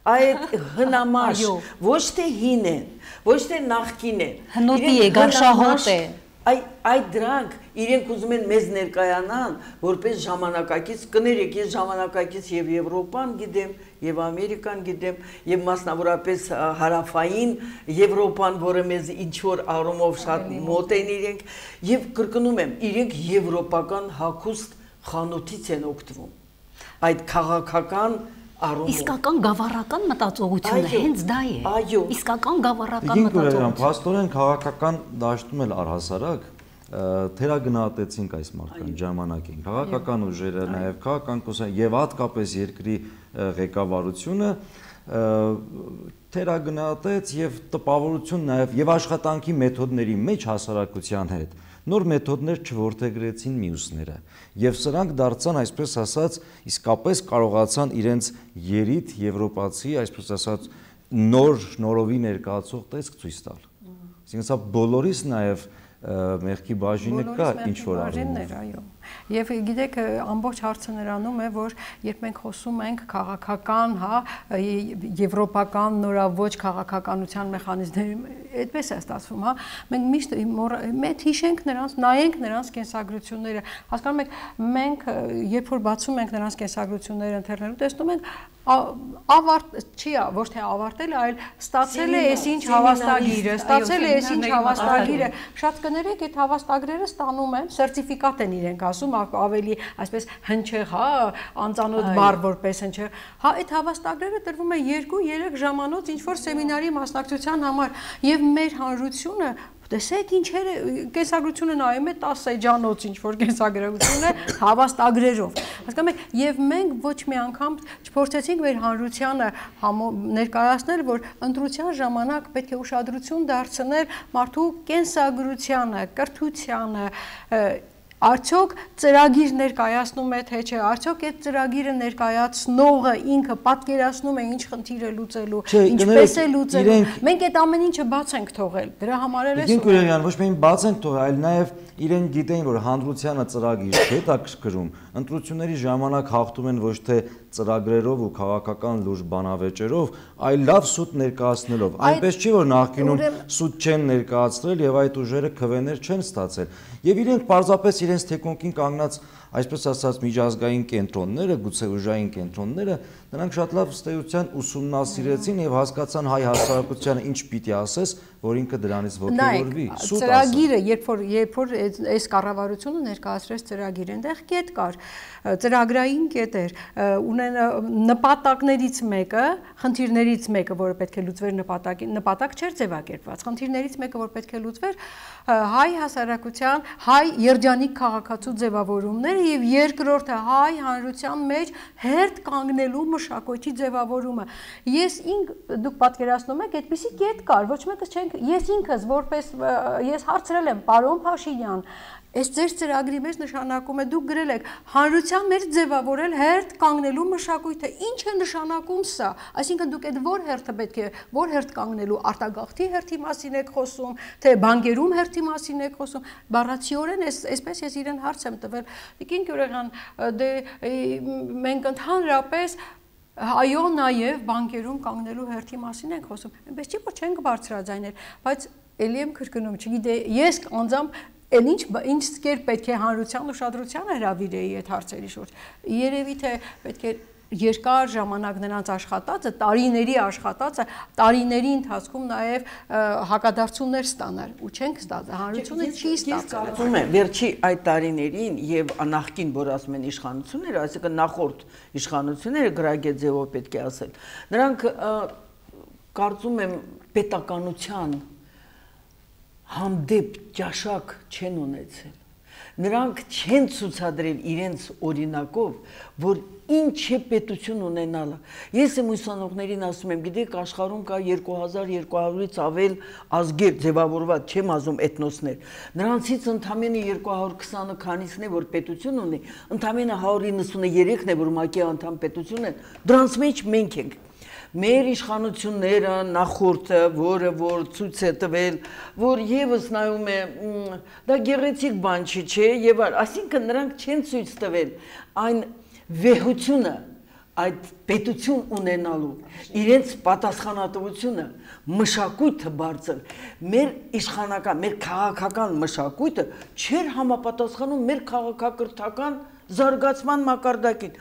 այդ հնամաշ, ոչ թե հին են, ոչ թե նախկին են։ Հնոտի է, գարշահոտ է։ Այդ դրանք իրենք ուզում են մեզ ներկայանան, որպես ժամանակակից, կներեք, ես ժամանակակից եւ Եվրոպան գիտեմ, եւ Ամերիկան գիտեմ, եւ մասնավորապես հարավային Եվրոպան, որը մեզ ինչ-որ առումով շատ մոտ են իրենք, եւ կրկնում եմ, իրենք եվրոպական հագուստ խանութից են օգտվում։ Այդ քաղաքական Իսկական գավառական մտածողությունը հենց դա է։ Այո։ Իսկական գավառական մտածողություն։ Փաստորեն քաղաքական դաշտում էլ առհասարակ թերագնահատեցինք այս մարդկանց ժամանակին։ Քաղաքական ուժերը, նաև քաղաքական կուսակցությունները եւ հատկապես երկրի ղեկավարությունը թերագնահատեց եւ տպավորություն նաև եւ աշխատանքի մեթոդների մեջ հասարակության հետ նոր մեթոդներ չորթեգրեցին մյուսները եւ սրանք դարձան այսպես ասած իսկապես կարողացան իրենց երիտ եվրոպացի այսպես ասած նորովի ներկայացող տեսք ցույց տալ։ Այսինքն սա բոլորիս նաեւ մեղքի բաժինը կա ինչ որ բաժիններ, այո։ Եվ գիտեք, ամբողջ հարցը նրանում է, որ երբ մենք խոսում ենք քաղաքական, հա, եվրոպական նորաոճ քաղաքականության մեխանիզմների, այդպես է ստացվում, հա, մենք միշտ հիշենք նրանց, նայենք նրանց կենսագրությունները, հասկանում եք, մենք երբ որ բացում ենք նրանց կենսագրությունները ընթերնելու, տեսնում ենք ոչ թե ավարտել, այլ ստացել է այսինչ հավաստագիրը, ստացել է այսինչ հավաստագիրը, շատ կներեք, այդ հավաստագրերը ստանում են, սերտիֆիկատ են իրենք ասում, ավելի այսպես հնչեղ, հա, անծանոթ բառ որպես հնչեղ, հա, այդ հավաստագրերը տրվում է 2-3 ժամանոց ինչ-որ սեմինարի մասնակցության համար, եւ մեր հանրությունը տեսեք ինչեր է կենսագրությունը նայում է 10 էջանոց ինչ-որ կենսագրություն է հավաստագրերով։ Հասկանում եք, եւ մենք ոչ մի անգամ չփորձեցինք մեր հանրությանը ներկայացնել, որ ընտրության ժամանակ պետք է ուշադրություն դարձնել մարդու կենսագրությանը, կրթությանը, արդյոք ծրագիր ներկայացնում է թե չէ, արդյոք այդ ծրագիրը ներկայացնողը ինքը պատկերացնում է ինչ խնդիր է լուծելու, ինչպես է լուծելու։ Մենք այդ ամեն ինչը բաց ենք թողել։ Դրա համար էլ Գին Գուրեյան, ոչ միայն բաց ենք թողել, այլ նաև իրենք գիտեն, որ հանրությանը ծրագիր չէ հետաքրքրում, ընտրությունների ժամանակ հաղթում են ոչ թե ծրագրերով ու քաղաքական լուրջ բանավեճերով, այլ լավ սուտ ներկայացնելով։ Այնպես չի, որ նախկինում սուտ չեն ներկայացրել եւ այդ ուժերը քվեներ չեն ստացել։ Եվ իրենք պարզապես իրենց թեկունքին կանգնած, այսպես ասած, միջազգային կենտրոնները, գուցե ուժային կենտրոնները, նրանք շատ լավ ըստեյության ուսումնասիրեցին եւ հասկացան հայ հասարակությանը ինչ պիտի ասես, որ ինքը դրանից ոգևորվի։ Ծրագիրը, երբ որ այս կառավարությունը ներկայացրեց ծրագիր, այնտեղ կետ կար, ծրագրային կետեր, ունեն նպատակներից մեկը, խնդիրներից մեկը, որը պետք է լուծվեր նպատակ չէր ձևակերպված, խնդիրներից մեկը, որ պետք է լուծվեր հայ հասարակության, հայ երջանիկ քաղաքացու ձևավորումները եւ երկրորդը հայ հանրության մեջ հերթ կանգնելու մշակույթի ձևավորումը։ Դուք պատկերացնում եք, այդպիսի կետ կար, ոչ մեկս չենք, ես ինքս որպես ես հարցրել եմ պարոն Փաշինյան, այս ձեր ծրագրի մեջ նշանակում է դուք գրել եք հանրության մեջ ձևավորել հերթ կանգնելու մշակույթը, ինչ է նշանակում սա, այսինքն դուք այդ որ հերթը պետք է, որ հերթ կանգնելու, արտագաղթի հերթի մասին եք խոսում, թե բանկերում հերթի մասին եք խոսում, բառացիորեն այսպես ես իրեն հարց եմ տվել, Տիկին Գյուրեյան, դե մենք ընդհանրապես այո, նաև բանկերում կանգնելու հերթի մասին ենք խոսում, այնպես չի, որ չենք բարձրաձայնել, բայց էլի եմ քրկնում, չգիտե, ես անձամբ Էլ ինչ կերպ պետք է հանրության ուշադրությանը հրավիրեի այդ հարցերի շուրջ։ Երևի թե պետք է երկար ժամանակ նրանց աշխատածը, տարիների աշխատածը, տարիների ընթացքում նաև հակադարձություններ ստանալ, ու չենք ստացել, հանրությունը չի ստացել։ Կարծում եմ, վերջի այդ տարիներին եւ նախկին, որ ասում են իշխանությունները, այսինքն նախորդ իշխանությունները գրագետ ձևով պետք է ասել, նրանք կարծում եմ պետականության հանդեպ ճաշակ չեն ունեցել։ Նրանք չեն ցուցադրել իրենց օրինակով, որ ինչ է պետություն ունենալը։ Ես եմ ուսանողներին ասում եմ, գիտեք, աշխարհում կա 2200-ից ավել ազգեր ձևավորված, չեմ ասում էթնոսներ։ Նրանցից ընդամենը 220-ը քանիսն է, որ պետություն ունի, ընդամենը 193-ն է, որ ՄԱԿ-ի անդամ պետություն են, դրանց մեջ մենք ենք։ Մեր իշխանությունները նախորդը, որը որ ցույց է տվել, որ եւս նայում է, դա գեղեցիկ բան չի, չէ, եւ այսինքն նրանք չեն ցույց տվել այն վեհությունը, այդ պետություն ունենալու իրենց պատասխանատվությունը մշակույթը բարձր մեր իշխանական մեր քաղաքական մշակույթը չէր համապատասխանում մեր քաղաքակրթական զարգացման մակարդակին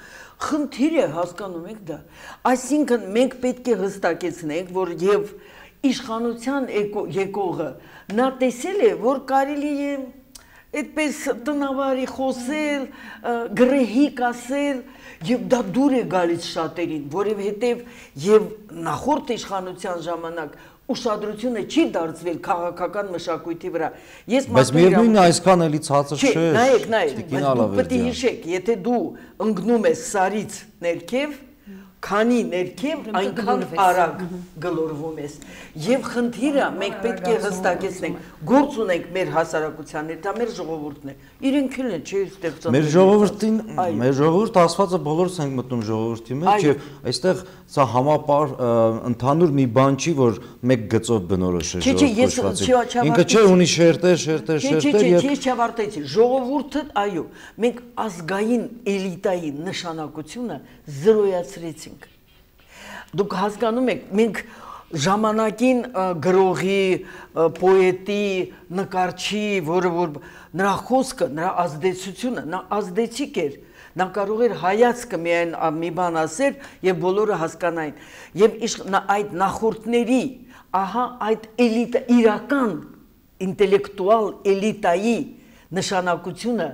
խնդիր է հասկանում եք դա այսինքն մենք պետք է հստակեցնենք որ եւ իշխանության եկողը նա տեսել է որ կարելի է այդպես տնավարի խոսել, գրեհիկ ասել եւ դա դուր է գալիս շատերին, որովհետեւ եւ նախորդ իշխանության ժամանակ ուշադրությունը չի դարձվել քաղաքական մշակույթի վրա։ Բայց միևնույնն է այսքան էլի ցածր չէ։ Նայեք, դուք պետք է հիշեք, եթե դու ընկնում ես սարից ներքև քանի ներքև այնքան արագ գլորվում ես եւ խնդիրը մենք պետք է հստակեցնենք գործ ունենք մեր հասարակության հետ դա մեր ժողովուրդն է իրենք էլ են չի ստեղծած մեր ժողովուրդ ասվածը բոլորս ենք մտնում ժողովրդի մեջ եւ այստեղ սա համապար ընդհանուր մի բան չի որ մեկ գծով բնորոշ է ժողովուրդը ինքը չէ ունի շերտեր եւ ես չավարտեցի ժողովուրդը այո մենք ազգային էլիտայի նշանակությունը զրոյացրեցինք Դուք հասկանում եք, մենք ժամանակին գրողի, պոետի, նկարչի, որը որ նրա խոսքը, նրա ազդեցությունը, նա ազդեցիկ էր, նա կարող էր հայացքը միայն մի բան ասել եւ բոլորը հասկանային։ Եվ այդ նախորդների, ահա այդ էլիտա իրական ինտելեկտուալ էլիտայի նշանակությունը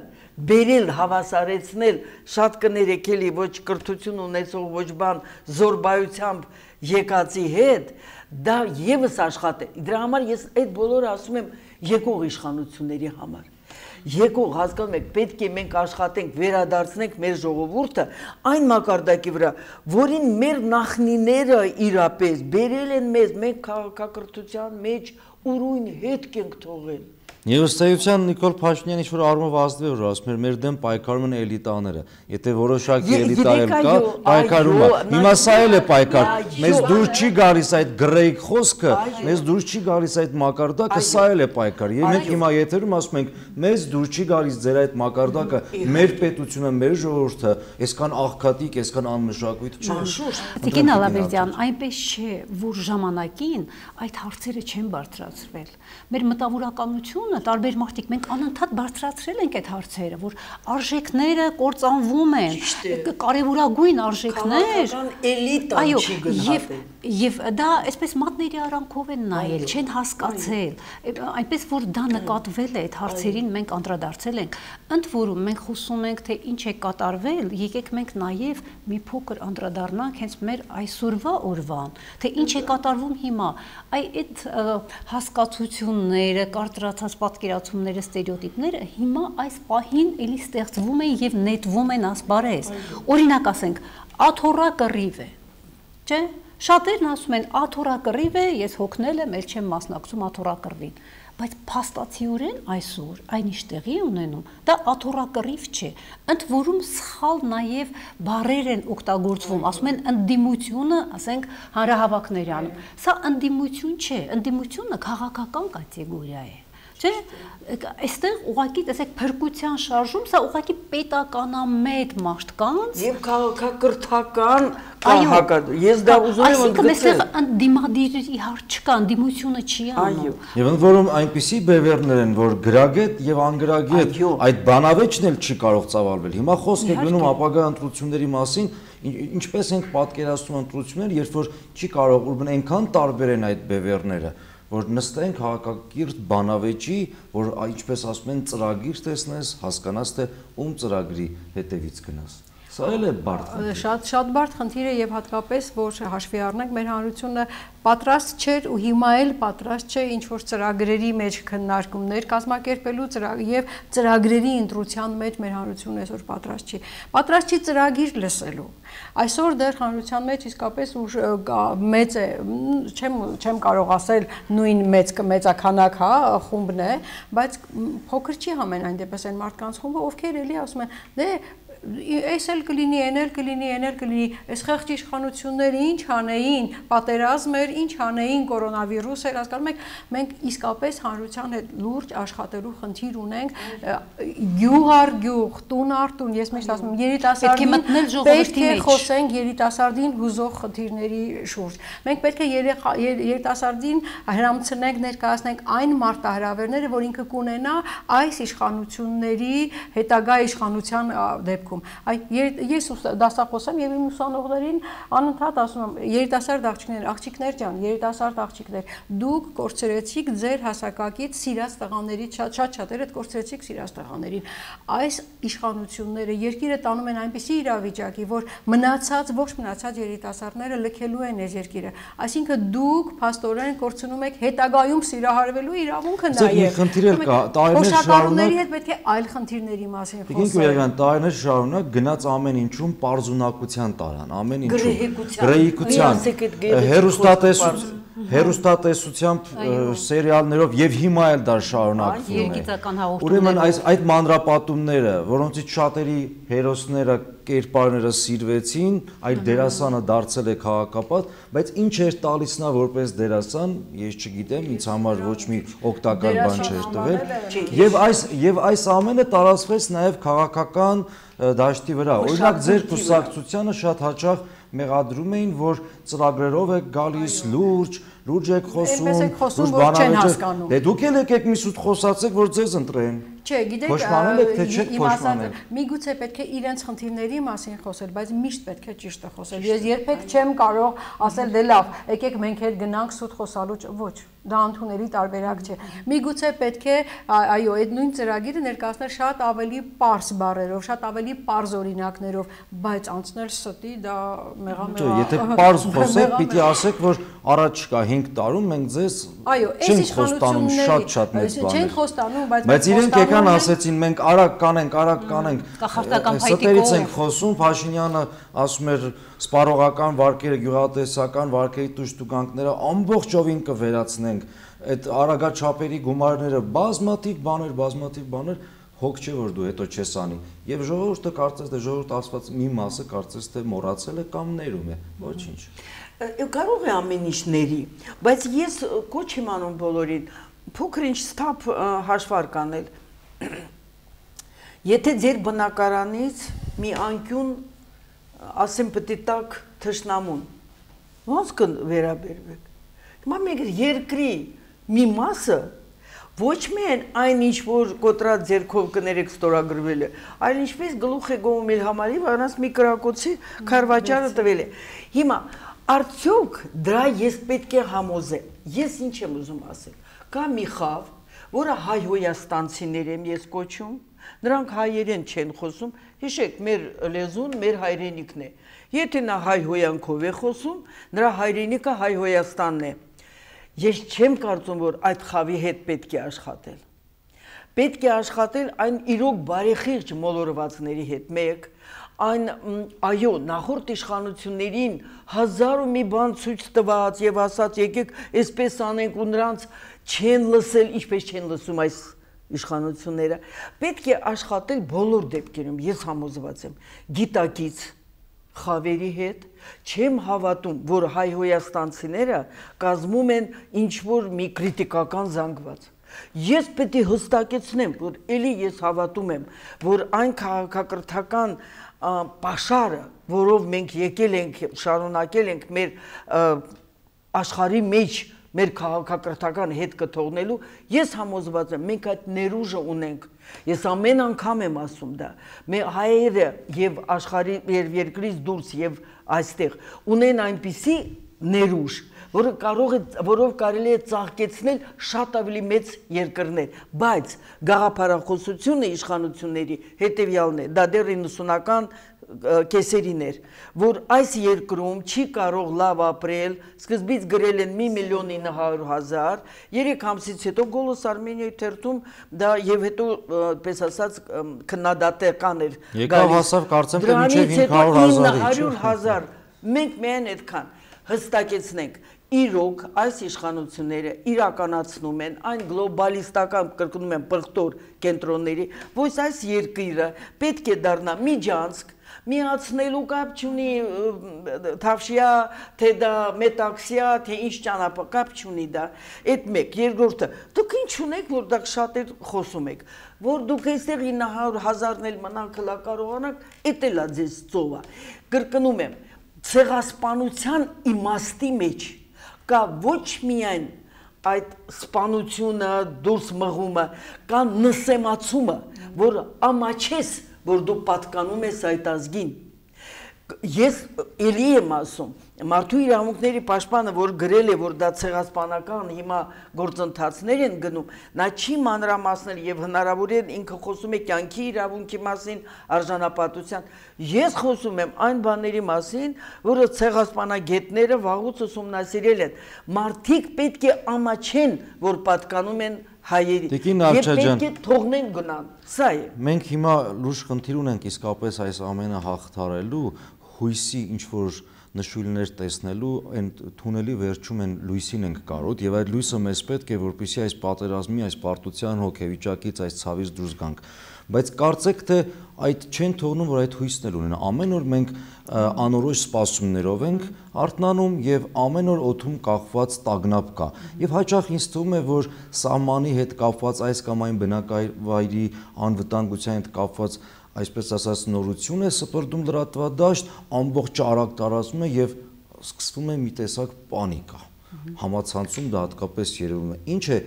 բերել հավասարեցնել շատ կներեք էլի ոչ կրթություն ունեցող ոչ բան զորբայությամբ եկածի հետ դա եւս աշխատե դրա համար ես այդ բոլորը ասում եմ եկող իշխանությունների համար եկող հասկանում եք պետք է մենք աշխատենք վերադարձնենք մեր ժողովուրդը այն մակարդակի վրա որին մեր նախնիները իրապես բերել են մեզ մենք քաղաքակրթության մեջ ուրույն հետք ենք թողել Եվ ըստեյության Նիկոլ Փաշինյանը ինչ-որ առումով ազդվել որ ասում էր մեր դեմ պայքարում են էլիտաները եթե որոշակի էլիտա էլ կա պայքարում է հիմա սա էլ է պայքար մեզ դուր չի գալիս այդ գրեիկ խոսքը մեզ դուր չի գալիս այդ մակարդակը սա էլ է պայքար եւ մենք հիմա եթերում ասում ենք մեզ դուր չի գալիս ձեր այդ մակարդակը մեր պետությունը մեր ժողովուրդը այսքան աղքատիկ այսքան անմշակույթ չէ Տիկին Ալավերդյան այնպես չէ որ ժամանակին այդ հարցերը չեն բարձրացրվել մեր մտավորականությունը տարբեր մարդիկ մենք անընդհատ բարձրացրել ենք այդ հարցերը, որ արժեքները կործանվում են, կարևորագույն արժեքներ, էլիտան չի գնահատել։ Եվ դա այսպես մատների արանքով են նայել, չեն հասկացել, այնպես որ դա նկատվել է այդ հարցերին մենք անդրադարձել ենք։ Ընդ որում մենք խոսում ենք թե ինչ է կատարվել, եկեք մենք նաև մի փոքր անդրադառնանք հենց մեր այսօրվա օրվան, թե ինչ է կատարվում հիմա։ Այդ հասկացությունները, կարծրացած պատկերացումները, ստերեոտիպները հիմա այս պահին էլի ստեղծվում են եւ նետվում են ասպարեզ։ Օրինակ ասենք, աթոռակռիվ է, չէ՞։ Շատերն ասում են աթոռակռիվ է, ես հոգնել եմ, ել չեմ մասնակցում աթոռակռվին, բայց փաստացիորեն այսօր այնիշ տեղի ունենում, դա աթոռակռիվ չէ, ընդ որում սխալ նաև բառեր են օգտագործվում, ասում են ընդդիմությունը, ասենք հանրահավաքների անում, սա ընդդիմություն չէ, ընդդիմությունը քաղաքական կատեգորիա է, չէ, այստեղ ուղղակի տեսեք փրկության շարժում, սա ուղղակի պետականամետ մարդկանց եւ քաղաքակրթական ես դա ուզում եմ ընդգծել։ Այսինքն այստեղ ընդդիմադիրի հարց չկա, ընդդիմությունը չի անում։ Եվ ընդ որում այնպիսի բևեռներ են, որ գրագետ եւ անգրագետ այդ բանավեճն էլ չի կարող ծավալվել։ Հիմա խոսք է գնում ապագա ընտրությունների մասին, ինչպես ենք պատկերացնում ընտրությունները, երբ որ չի կարող ուրբն այնքան տարբեր են այդ բևեռները որ նստեն քաղաքակիրթ բանավեճի, որ ինչպես ասում են ծրագիր տեսնես, հասկանաս թե ում ծրագրի հետևից գնաս։ Սա էլ է բարդ խնդիր։ Շատ բարդ խնդիր է եւ հատկապես որ հաշվի առնենք մեր հանրությունը պատրաստ չէր ու հիմա էլ պատրաստ չէ ինչ որ ծրագրերի մեջ քննարկումներ կազմակերպելու եւ ծրագրերի ընտրության մեջ մեր հանրությունը այսօր պատրաստ չի։ Պատրաստ չի ծրագիր լսելու։ Այսօր դեռ հանրության մեջ իսկապես մեծ է, չեմ կարող ասել նույն մեծականակ հա խումբն է, բայց փոքր չի համենայն դեպս այն մարդկանց խումբը, ովքեր էլի ասում են, դե այս էլ կլինի, այն էլ կլինի, այս խեղճ իշխանությունները ինչ անեին, պատերազմ էր, էր, ինչ անեին, կորոնավիրուս էր, հասկանում եք, մենք իսկապես հանրության հետ լուրջ աշխատելու խնդիր ունենք, գյուղ առ գյուղ, տուն առ տուն, ես միշտ ասում եմ, երիտասարդին պետք է խոսենք երիտասարդին հուզող խնդիրների շուրջ։ Մենք պետք է երիտասարդին հրամցնենք, ներկայացնենք այն մարտահրավերները, որ ինքը կունենա այս իշխանությունների հետագա իշխանության դեպքում։ Ես դասախոս եմ եւ իմ ուսանողներին անընդհատ ասում եմ, երիտասարդ աղջիկներ ջան, երիտասարդ աղջիկներ, դուք կորցրեցիք ձեր հասակակից սիրած տղաներից, շատ-շատերը կորցրեցիք սիրած տղաներին։ Այս իշխանությունները երկիրը տանում են այնպիսի իրավիճակի, որ ողջ մնացած երիտասարդները լքելու են այս երկիրը։ Այսինքն դուք փաստորեն կորցնում եք հետագայում սիրահարվելու իրավունքը նաև։ Խոշակառուների հետ պետք է այլ խնդիրների մասին խոսել։ Տարիներ շարունակ գնաց ամեն ինչում պարզունակության տարան, ամեն ինչում գրեհիկության, հերոստատեսությամբ, սերիալներով եւ հիմա էլ դա շարունակվում է։ Ուրեմն այդ մանրապատումները, որոնցից շատերի հերոսները, կերպարները սիրվեցին, այդ դերասանը դարձել է քաղաքապատ, բայց ինչ էր տալիս նա որպես դերասան, ես չգիտեմ, ինձ համար ոչ մի օգտակար բան չէր տվել։ Եվ այս ամենը տարածվեց նաև քաղաքական դաշտի վրա։ Օրինակ ձեր կուսակցությանը շատ հաճախ մեղադրում էին, որ ծրագրերով եք գալիս լուրջ եք խոսում, լուրջ բանալի։ Դե դուք էլ եկեք մի սուտ խոսացեք, որ ձեզ ընտրեն։ Չէ, գիտեք, փոշմանել եք թե չեք փոշմանել։ Միգուցե պետք է իրենց խնդիրների մասին խոսել, բայց միշտ պետք է ճիշտը խոսել։ Ես երբեք չեմ կարող ասել դե լավ, եկեք մենք հետ գնանք սուտ խոսալու, ոչ, դա ընդունելի տարբերակ չէ։ Միգուցե պետք է, այո, այդ նույն ծրագիրը ներկայացնել շատ ավելի պարզ բառերով, շատ ավելի պարզ օրինակներով, բայց անցնել ստի դա մեղամեղա։ Եթե պարզ խոսեք, պիտի ասեք, որ առաջիկա 5 տարում մենք ձեզ չենք խոստանում շատ մեծ բաներ։ Չենք խոստանում, բայց իրենք եկան ասեցին մենք արագ կանենք։ Ստերից ենք խոսում, Փաշինյանը ասում էր սպառողական վարկերը, գյուղատնտեսական վարկերի տուժտուգանքները ամբողջովին կվերացնենք։ Այդ արագաչափերի գումարները բազմաթիվ բաներ հոգ չէ որ դու հետո չես անի։ Եվ ժողովուրդը կարծես թե ժողովուրդ ասված մի մասը կարծես թե մոռացել է կամ ներում է։ Ոչինչ։ Կարող է ամեն ինչների, բայց ես կոչ եմ անում բոլորին, փոքր ինչ ստապ հաշվարկ անել։ Եթե ձեր բնակարանից մի անկյուն, ասեմ պտի տակ թշնամուն, ոնց կվերաբերվեք։ Հիմա մենք երկրի մի մասը ոչ միայն այն ինչ որ կոտրած ձերքով կներեք ստորագրվել է, այլ ինչպես գլուխ է գովում իր համարի, վրանց մի կրակոցի քարվաճարը տվել է։ Հիմա արդյոք դրա ես պետք է համոզեմ։ Ես ինչ եմ ուզում ասել։ Կա մի խավ, որը հայ-հոյաստանցիներ եմ ես կոչում, նրանք հայերեն չեն խոսում, հիշեք, մեր լեզուն մեր հայրենիքն է։ Եթե նա հայ-հոյանքով է խոսում, նրա հայրենիքը Հայ-Հոյաստանն է։ Ես չեմ կարծում, որ այդ խավի հետ պետք է աշխատել։ Պետք է աշխատել այն իրոք բարեխիղճ մոլորվածների հետ մեկ, այն այո, նախորդ իշխանություններին հազար ու մի բան ցույց տված եւ ասած եկեք այսպես անենք ու նրանց չեն լսել, ինչպես չեն լսում այս իշխանությունները։ Պետք է աշխատել բոլոր դեպքերում, ես համոզված եմ, գիտակից խավերի հետ, չեմ հավատում, որ հայ-հոյաստանցիները կազմում են ինչ-որ մի կրիտիկական զանգված։ Ես պետք է հստակեցնեմ, որ էլի ես հավատում եմ, որ այն քաղաքակրթական պաշարը, որով մենք եկել ենք, շարունակել ենք մեր աշխարհի մեջ մեր քաղաքակրթական հետ կթողնելու, ես համոզված եմ, մենք այդ ներուժը ունենք։ Ես ամեն անգամ եմ ասում դա։ Մեր հայերը եւ աշխարհի երկրից դուրս եւ այստեղ ունեն այնպիսի ներուժ, որով կարելի է ծաղկեցնել շատ ավելի մեծ երկրներ, բայց գաղափարախոսությունը իշխանությունների հետեւյալն է, դա դեռ 90-ական կեսերին էր, որ այս երկրում չի կարող լավ ապրել, սկզբից գրել են 1.900.000, 3 ամսից հետո Գոլոս Արմենիայի թերթում դա եւ հետո պես ասած քննադատական էր գալիս։ Եկավ հասավ կարծեմ թե մինչեւ 500.000, մենք միայն այդքան հստակեցնենք, իրոք այս իշխանությունները իրականացնում են այն գլոբալիստական կրկնում են պղտոր կենտրոնների, որ այս երկիրը պետք է դառնա միջանցք, Միացնելու կապ չունի թավշյա, թե դա մետաքսյա, թե ինչ ճանապարհ կապ չունի դա։ Այդ մեկ, երկրորդը, դուք ինչ ունեք, որ դա շատ խոսում եք, որ դուք այստեղ 900,000-ն էլ մնան քլակարողանակ, էդ էլա ձեզ ծովա։ Կրկնում եմ, ցեղասպանության իմաստի մեջ կա ոչ միայն այդ սպանությունը, դուրս մղումը, կա նսեմացումը, որ ամաչես, որ դու պատկանում ես այդ ազգին։ Ես էլի եմ ասում, մարդու իրավունքների պաշտպանը, որ գրել է, որ դա ցեղասպանական հիմա գործընթացներ են գնում, նա չի մանրամասնել եւ հնարավոր է ինքը խոսում է կյանքի իրավունքի մասին, արժանապատվության։ Ես խոսում եմ այն բաների մասին, որը ցեղասպանագետները վաղուց ուսումնասիրել են։ Մարդիկ պետք է ամաչեն, որ պատկանում են հայերի։ Եվ պետք է թողնեն գնան։ Սա է։ Մենք հիմա լուրջ խնդիր ունենք իսկապես այս ամենը հաղթարելու, հույսի ինչ որ նշույլներ տեսնելու, այն թունելի վերջում են լույսին ենք կարոտ եւ այդ լույսը մեզ պետք է, որպեսզի այս պատերազմի, այս պարտության հոգեվիճակից, այս ցավից դուրս գանք։ Բայց կարծեք թե այդ չեն թողնում, որ այդ հույսն էլ ունենա։ Ամեն օր մենք անորոշ սպասումներով ենք արթնանում եւ ամեն օր օդում կախված տագնապ կա։ Եվ հաճախ ինձ թվում է, որ սահմանի հետ կապված այս կամ այն բնակավայրի անվտանգության հետ կապված այսպես ասած նորություն է սպրդում լրատվադաշտ, ամբողջ արագ տարածում է եւ սկսվում է մի տեսակ պանիկա։ Համացանցում դա հատկապես երևում է։ Ինչ է,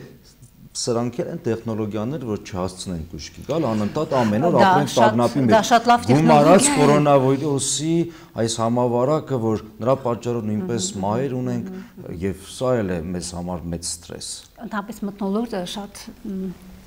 սրանք են տեխնոլոգիաներ, որ չհասցնեն կուշկի գալ, անընդհատ ամեն օր ապրենք տագնապի մեջ։ Գումարած կորոնավիրուսի այս համավարակը, որ նրա պատճառով նույնպես մահեր ունենք եւ սա էլ է մեզ համար մեծ ստրես։ Ընդհանրապես մթնոլորտը շատ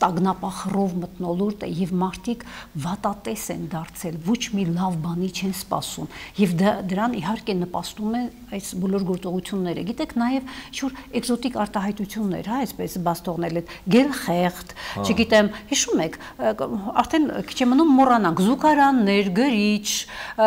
տագնապախռով մթնոլորտ է եւ մարդիկ վատատես են դարձել, ոչ մի լավ բանի չեն սպասում եւ դրան իհարկե նպաստում է այս բոլոր գործողությունները։ Գիտեք, նաեւ ինչ-որ էկզոտիկ արտահայտություններ, հա, այսպես բաց թողնել այդ գելխեղտ, չգիտեմ, հիշում եք, արդեն քիչ է մնում մոռանանք, զուգարաններ, գրիչ,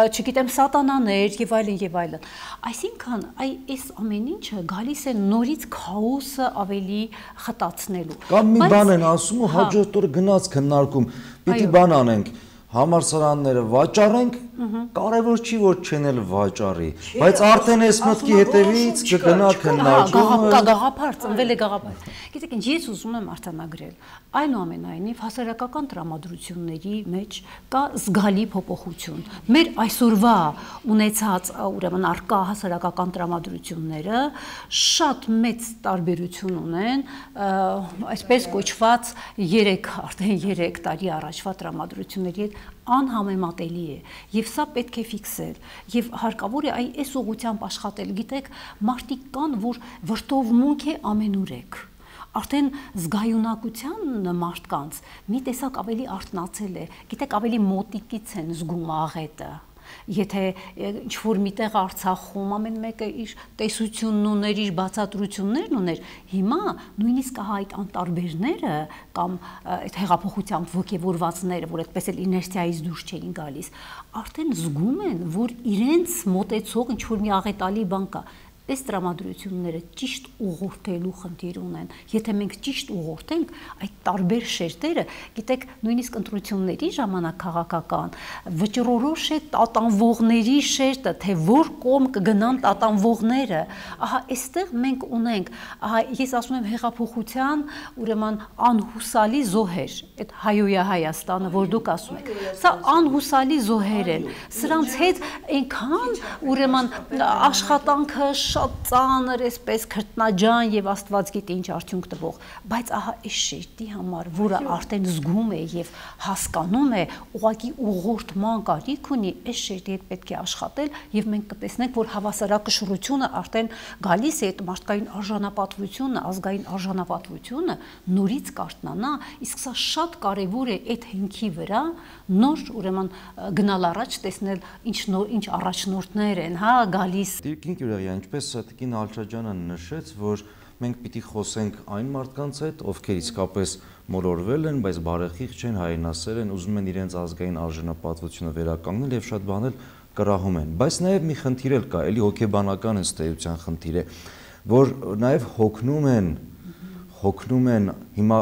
չգիտեմ, սատանաներ եւ այլն եւ այլն։ Այսինքն, այս ամեն ինչը գալիս է նորից քաոսը ավելի խտացնելու։ Կամ մի բան են ասում ու հաջորդ օրը գնաց քննարկում, պիտի բան անենք, համալսարանները վաճառենք, կարևոր չի որ չեն էլ վաճառի, բայց արդեն այս մտքի հետևից կգնա քննարկումը։ Գաղափար, ծնվել է գաղափար։ Գիտեք ինչ, ես ուզում եմ արձանագրել, այնուամենայնիվ հասարակական տրամադրությունների մեջ կա զգալի փոփոխություն։ Մեր այսօրվա ունեցած ուրեմն առկա հասարակական տրամադրությունները շատ մեծ տարբերություն ունեն, այսպես կոչված արդեն 3 տարի առաջվա տրամադրությունների հետ անհամեմատելի է եւ սա պետք է ֆիքսել եւ հարկավոր է այս ուղղությամբ աշխատել։ Գիտեք, մարդիկ կան, որ վրդովմունք է ամենուրեք, արդեն զգայունակության մարդկանց մի տեսակ ավելի արթնացել է, գիտեք, ավելի մոտիկից են զգում աղետը։ Եթե ինչ-որ միտեղ Արցախում ամեն մեկը իր տեսությունն ուներ, իր բացատրություններն ուներ, հիմա նույնիսկ այդ անտարբերները կամ այդ հեղափոխությամբ ոգևորվածները, որ այդպես էլ իներցիայից դուրս չէին գալիս, արդեն զգում են, որ իրենց մոտեցող ինչ-որ մի աղետալի բան կա։ Այս տրամադրությունները ճիշտ ուղղորդելու խնդիր ունեն։ Եթե մենք ճիշտ ուղղորդենք այդ տարբեր շերտերը, գիտեք, նույնիսկ ընտրությունների ժամանակ քաղաքական վճռորոշ է տատանվողների շերտը, թե որ կողմ կգնան տատանվողները։ Ահա այստեղ մենք ունենք, ահա ես ասում եմ հեղափոխության ուրեմն անհուսալի զոհեր, այդ հայոյա Հայաստանը, որ դուք ասում եք։ Սա անհուսալի զոհեր են։ Սրանց հետ այնքան ուրեմն աշխատանքը շատ ծանր, այսպես քրտնաջան եւ Աստված գիտի ինչ արդյունք տվող, բայց ահա այս շերտի համար, որը արդեն զգում է եւ հասկանում է, ուղղակի ուղղորդման կարիք ունի, այս շերտի հետ պետք է աշխատել եւ մենք կտեսնենք, որ հավասարակշռությունը արդեն գալիս է, այդ մարդկային արժանապատվությունը, ազգային արժանապատվությունը նորից կարթնանա, իսկ սա շատ կարեւոր է այդ հիմքի վրա նոր ուրեմն գնալ առաջ, տեսնել ինչ առաջնորդներ են, հա, գալիս։ Տիկին Գյուրեղյա, ինչպես Տիկին Ալչաջյանը նշեց, որ մենք պիտի խոսենք այն մարդկանց հետ, ովքեր իսկապես մոլորվել են, բայց բարեխիղճ չեն, հայրենասեր են, ուզում են իրենց ազգային արժանապատվությունը վերականգնել եւ շատ բաներ կռահում են։ Բայց նաեւ մի խնդիր էլ կա, էլի հոգեբանական ըստ էության խնդիր է, որ նաեւ հոգնում են հոգնում են, հիմա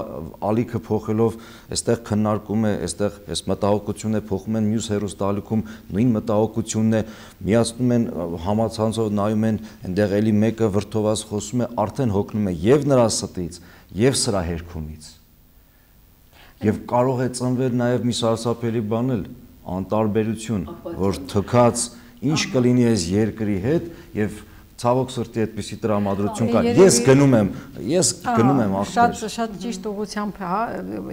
ալիքը փոխելով, այստեղ քննարկում է, այստեղ այս մտահոգությունն է փոխում են մյուս հերոստալիքում, նույն մտահոգությունն է, միացնում են համացանցով նայում են, այնտեղ էլի մեկը վրդովված խոսում է, արդեն հոգնում է եւ նրա ստից, եւ սրա հերքումից։ Եվ կարող է ծնվել նաեւ մի սարսափելի բան էլ, անտարբերություն, որ թքած ինչ կլինի այս երկրի հետ եւ ցավոք սրտի այդպիսի տրամադրություն կա։ Ես գնում եմ ախպեր։ Շատ ճիշտ ուղղությամբ, հա,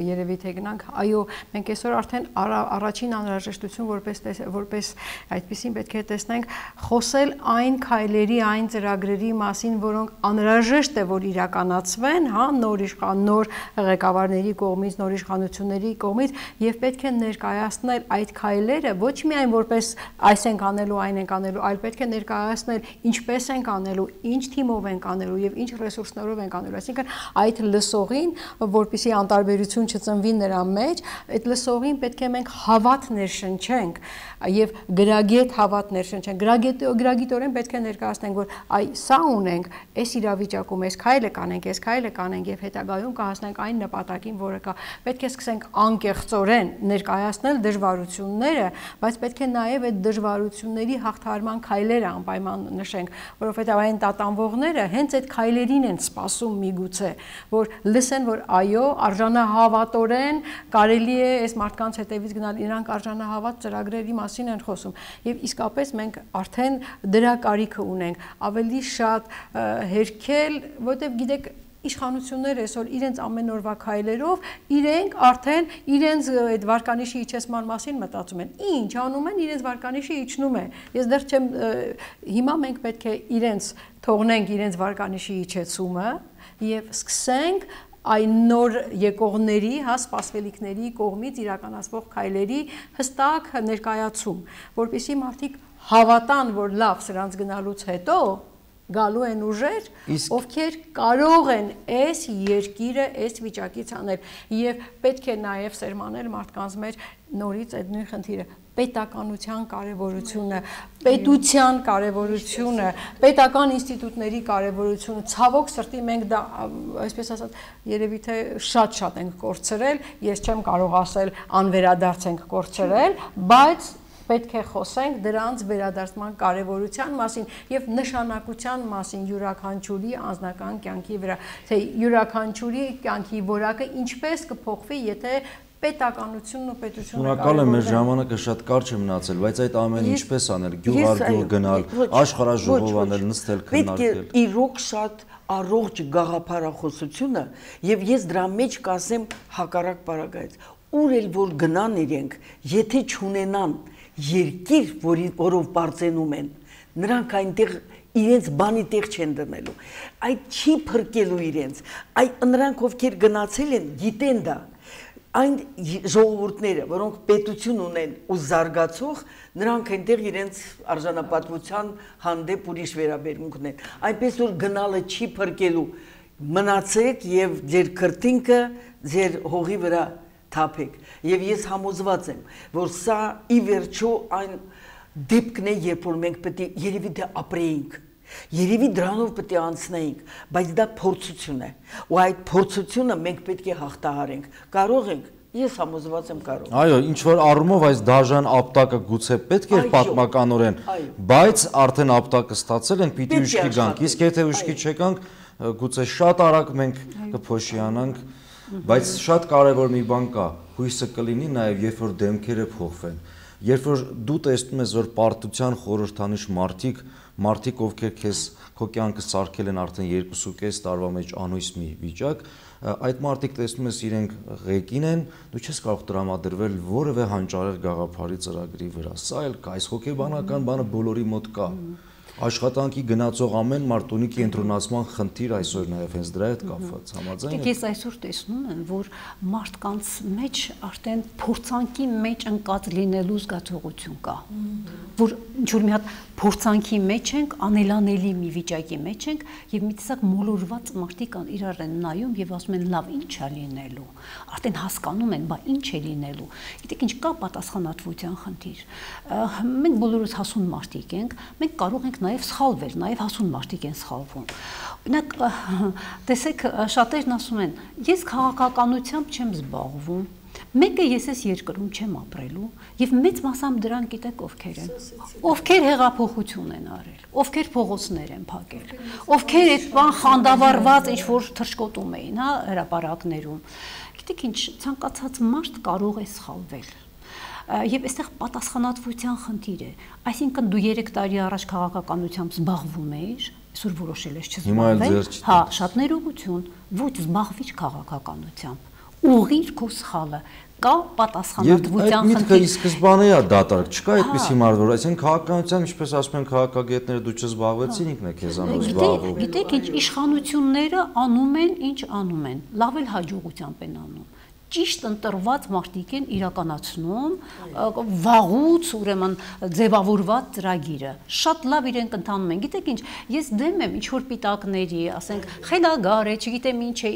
երևի թե գնանք, այո, մենք այսօր արդեն առաջին անհրաժեշտություն որպես այդպեսին պետք է տեսնենք խոսել այն քայլերի, այն ծրագրերի մասին, որոնք անհրաժեշտ է որ իրականացվեն, հա, նոր ղեկավարների կողմից, նոր իշխանությունների կողմից եւ պետք է ներկայացնել այդ քայլերը ոչ միայն որպես այս ենք անելու, այն ենք անելու, այլ պետք է ներկայացնել ինչպես ենք անելու, ինչ թիմով ենք անելու եւ ինչ ռեսուրսներով ենք անելու, այսինքն այդ լսողին, որպեսզի անտարբերություն չծնվի նրա մեջ, այդ լսողին պետք է մենք հավատ ներշնչենք եւ գրագետ հավատ ներշնչենք, գրագիտորեն պետք է ներկայացնենք, որ այ սա ունենք, այս իրավիճակում այս քայլը կանենք եւ հետագայում կհասնենք այն նպատակին, որը կա։ Պետք է սկսենք անկեղծորեն ներկայացնել դժվարությունները, բայց պետք է նաեւ այդ դժվարությունների հաղթահարման քայլերը անպայման նշենք, որովհետև այն տատանվողները հենց այդ քայլերին են սպասում միգուցե, որ լսեն, որ այո, արժանահավատորեն կարելի է այս մարդկանց հետևից գնալ, իրանք արժանահավատ ծրագրերի մասին են խոսում եւ իսկապես մենք արդեն դրա կարիքը ունենք, ավելի շատ հերքել, որովհետև գիտեք իշխանությունները այսօր իրենց ամեն օրվա քայլերով իրենք արդեն իրենց այդ վարկանիշի իջեցման մասին մտածում են։ Ինչ անում են, իրենց վարկանիշը իջնում է։ Ես դեռ չեմ հիմա մենք պետք է իրենց թողնենք իրենց վարկանիշի իջեցումը եւ սկսենք այն նոր եկողների, հա, սպասվելիքների կողմից իրականացվող քայլերի հստակ ներկայացում, որպեսզի մարդիկ հավատան, որ լավ սրանց գնալուց հետո գալու են ուժեր, ովքեր կարող են այս երկիրը այս վիճակից անել եւ պետք է նաեւ սերմանել մարդկանց մեջ նորից այդ նույն խնդիրը պետականության կարևորությունը, պետության կարևորությունը, պետական ինստիտուտների կարևորությունը, ցավոք սրտի մենք դա այսպես ասած երևի թե շատ ենք կորցրել, ես չեմ կարող ասել անվերադարձ ենք կորցրել, բայց պետք է խոսենք դրանց վերադարձման կարևորության մասին եւ նշանակության մասին յուրաքանչյուրի անձնական կյանքի վրա, թե յուրաքանչյուրի կյանքի որակը ինչպես կփոխվի, եթե պետականությունն ու պետությունը Շնորհակալ եմ, մեր ժամանակը շատ կարճ է մնացել, բայց այդ ամենը ինչպես անել, գյուղ առ գյուղ գնալ, աշխարհաժողով անել, նստել, քննարկել։ Պետք է իրոք շատ առողջ գաղափարախոսությունը եւ ես դրա մեջ կասեմ հակառակ բառագայից։ Ուր էլ որ գնան իրենք, եթե չունենան երկիր, որով բարձենում են, նրանք այնտեղ իրենց բանի տեղ չեն դնելու, այդ չի փրկելու իրենց, նրանք ովքեր գնացել են, գիտեն դա, այն ժողովուրդները, որոնք պետություն ունեն ու զարգացող, նրանք այնտեղ իրենց արժանապատվության հանդեպ ուրիշ վերաբերմունք ունեն, այնպես որ գնալը չի փրկելու, մնացեք եւ ձեր քրտինքը ձեր հողի վրա թափեք եւ ես համոզված եմ որ սա ի վերջո այն դեպքն է երբ որ մենք պետք է երևի դա ապրեինք երևի դրանով պետք է անցնեինք բայց դա փորձություն է ու այդ փորձությունը մենք պետք է հաղթահարենք կարող ենք ես համոզված եմ կարող այո ինչ որ առումով այս դաժան ապտակը գուցե պետք է պատմականորեն բայց արդեն ապտակը ստացել ենք պիտի ուշքի գանք իսկ եթե ուշքի չեկանք գուցե շատ արագ մենք կփոշիանանք բայց շատ կարևոր մի բան կա հույսը կլինի նաև երբ որ դեմքերը փոխվեն երբ որ դու տեսնում ես որ պարտության խորհրդանիշ մարդիկ ովքեր քո կյանքը սարքել են արդեն 2.5 տարվա մեջ անույս մի վիճակ այդ մարդիկ տեսնում ես իրենք ղեկին են դու չես կարող տրամադրվել որևէ հանճարեղ գաղափարի ծրագրի վրա սա էլ կա այս հոգեբանական բանը բոլորի մոտ կա Աշխատանքի գնացող ամեն մարդ ունի կենտրոնացման խնդիր այսօր նաև հենց դրա հետ կապված համաձայն եք։ Ես այսօր տեսնում եմ, որ մարդկանց մեջ արդեն փորձանքի մեջ ընկած լինելու զգացողություն կա։ որ ինչ-որ մի հատ փորձանքի մեջ ենք, անելանելի մի վիճակի մեջ ենք եւ մի տեսակ մոլորված մարդիկ իրար են նայում եւ ասում են լավ ինչ է լինելու, արդեն հասկանում են, բա ինչ է լինելու։ Գիտեք ինչ կա պատասխանատվության խնդիր։ Մենք բոլորս հասուն մարդիկ ենք, մենք կարող ենք նաեւ սխալվել, նաեւ հասուն մարդիկ են սխալվում։ Օրինակ, տեսեք, շատերն ասում են, ես քաղաքականությամբ չեմ զբաղվում։ Մեկը ես այս երկրում չեմ ապրելու եւ մեծ մասամբ դրանք գիտեք ովքեր են, ովքեր հեղափոխություն են արել, ովքեր փողոցներ են փակել, ովքեր այդ բան խանդավառված ինչ որ թռչկոտում էին, հա, հրապարակներում։ Գիտեք ինչ, ցանկացած մարդ կարող է սխալվել։ Եվ այստեղ պատասխանատվության խնդիր է, այսինքն դու 3 տարի առաջ քաղաքականությամբ զբաղվում էիր, այսօր որոշել ես չզբաղվել, հա, շատ ներողություն, ոչ զբաղվիր քաղաքականությամբ, ուղղիր քո սխալը, կա պատասխանատվության խնդիր։ Եվ այդ միտքը ի սկզբանե է դատարկ, չկա այդպիսի մարդ, որ այսինքն քաղաքականությամբ, ինչպես ասում են քաղաքագետները, դու չզբաղվեցին, ինքն է քեզանով զբաղվում։ Գիտեք ինչ, իշխանությունները անում են, ինչ անում են, լավ էլ հաջողությամբ են անում։ Ճիշտ ընտրված մարդիկ են իրականացնում վաղուց ուրեմն ձևավորված ծրագիրը, շատ լավ իրենք ընթանում են։ Գիտեք ինչ, ես դեմ եմ ինչ որ պիտակների, ասենք, խելագար է, չգիտեմ ինչ է,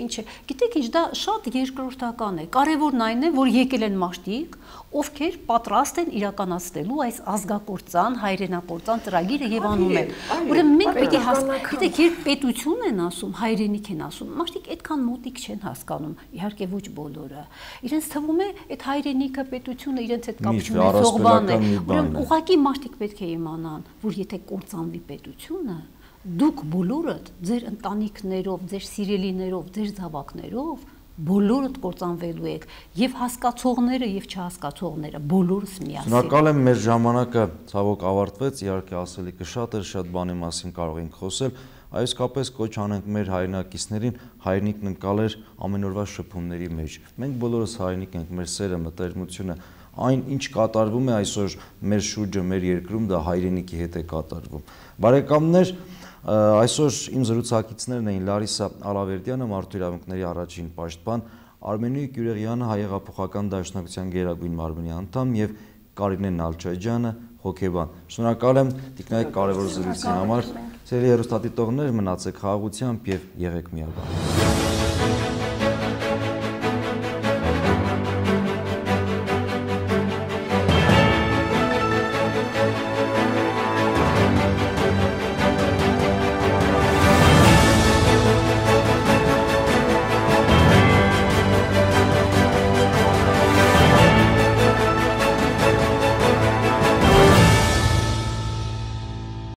գիտեք ինչ, դա շատ երկրորդական է։ Կարևորն այն է, որ եկել են մարդիկ, ովքեր պատրաստ են իրականացնելու այս ազգակործան, հայրենակործան ծրագիրը եւ անում են։ Ուրեմն մենք պիտի հասկանանք, գիտեք, երբ պետություն են ասում, հայրենիք են ասում, մարդիկ այդքան մոտիկ չեն հասկանում, իհարկե ոչ բոլորը։ Իրենց թվում է այդ հայրենիքը, պետությունը իրենց հետ կապ չունի, զողբան է։ Ուրեմն ուղղակի մարդիկ պետք է իմանան, որ եթե կործանվի պետությունը, դուք բոլորդ ձեր ընտանիքներով, ձեր սիրելիներով, ձեր զավակներով բոլորդ կործանվելու եք, եւ հասկացողները եւ չհասկացողները բոլորս միասին։ Շնորհակալ եմ, մեր ժամանակը ցավոք ավարտվեց, իհարկե ասելիքը շատ էր, շատ բանի մասին կարող ենք խոսել, այսկապես կոչ անենք մեր հայրենակիցներին հայրենիքն ընկալեր ամեն օրվա շփումների մեջ։ Մենք բոլորս հայրենիք ենք, մեր սերը, մտերմությունը, այն ինչ կատարվում է այսօր մեր շուրջը, մեր երկրում, դա հայրենիքի հետ է կատարվում։ Բարեկամներ, այսօր իմ զրուցակիցներն էին Լարիսա Ալավերդյանը, Մարդու իրավունքների առաջին պաշտպան, Արմենիկ Յուրեղյանը, Հայ հեղափոխական դաշնակցության գերագույն մարմնի անդամ եւ Կարինե Նալչաջյանը, հոգեբան։ Շնորհակալ եմ տիկնայք կարևոր զրույցի համար։ Սիրելի հեռուստադիտողներ, մնացեք խաղաղությամբ եւ եղեք միաբան։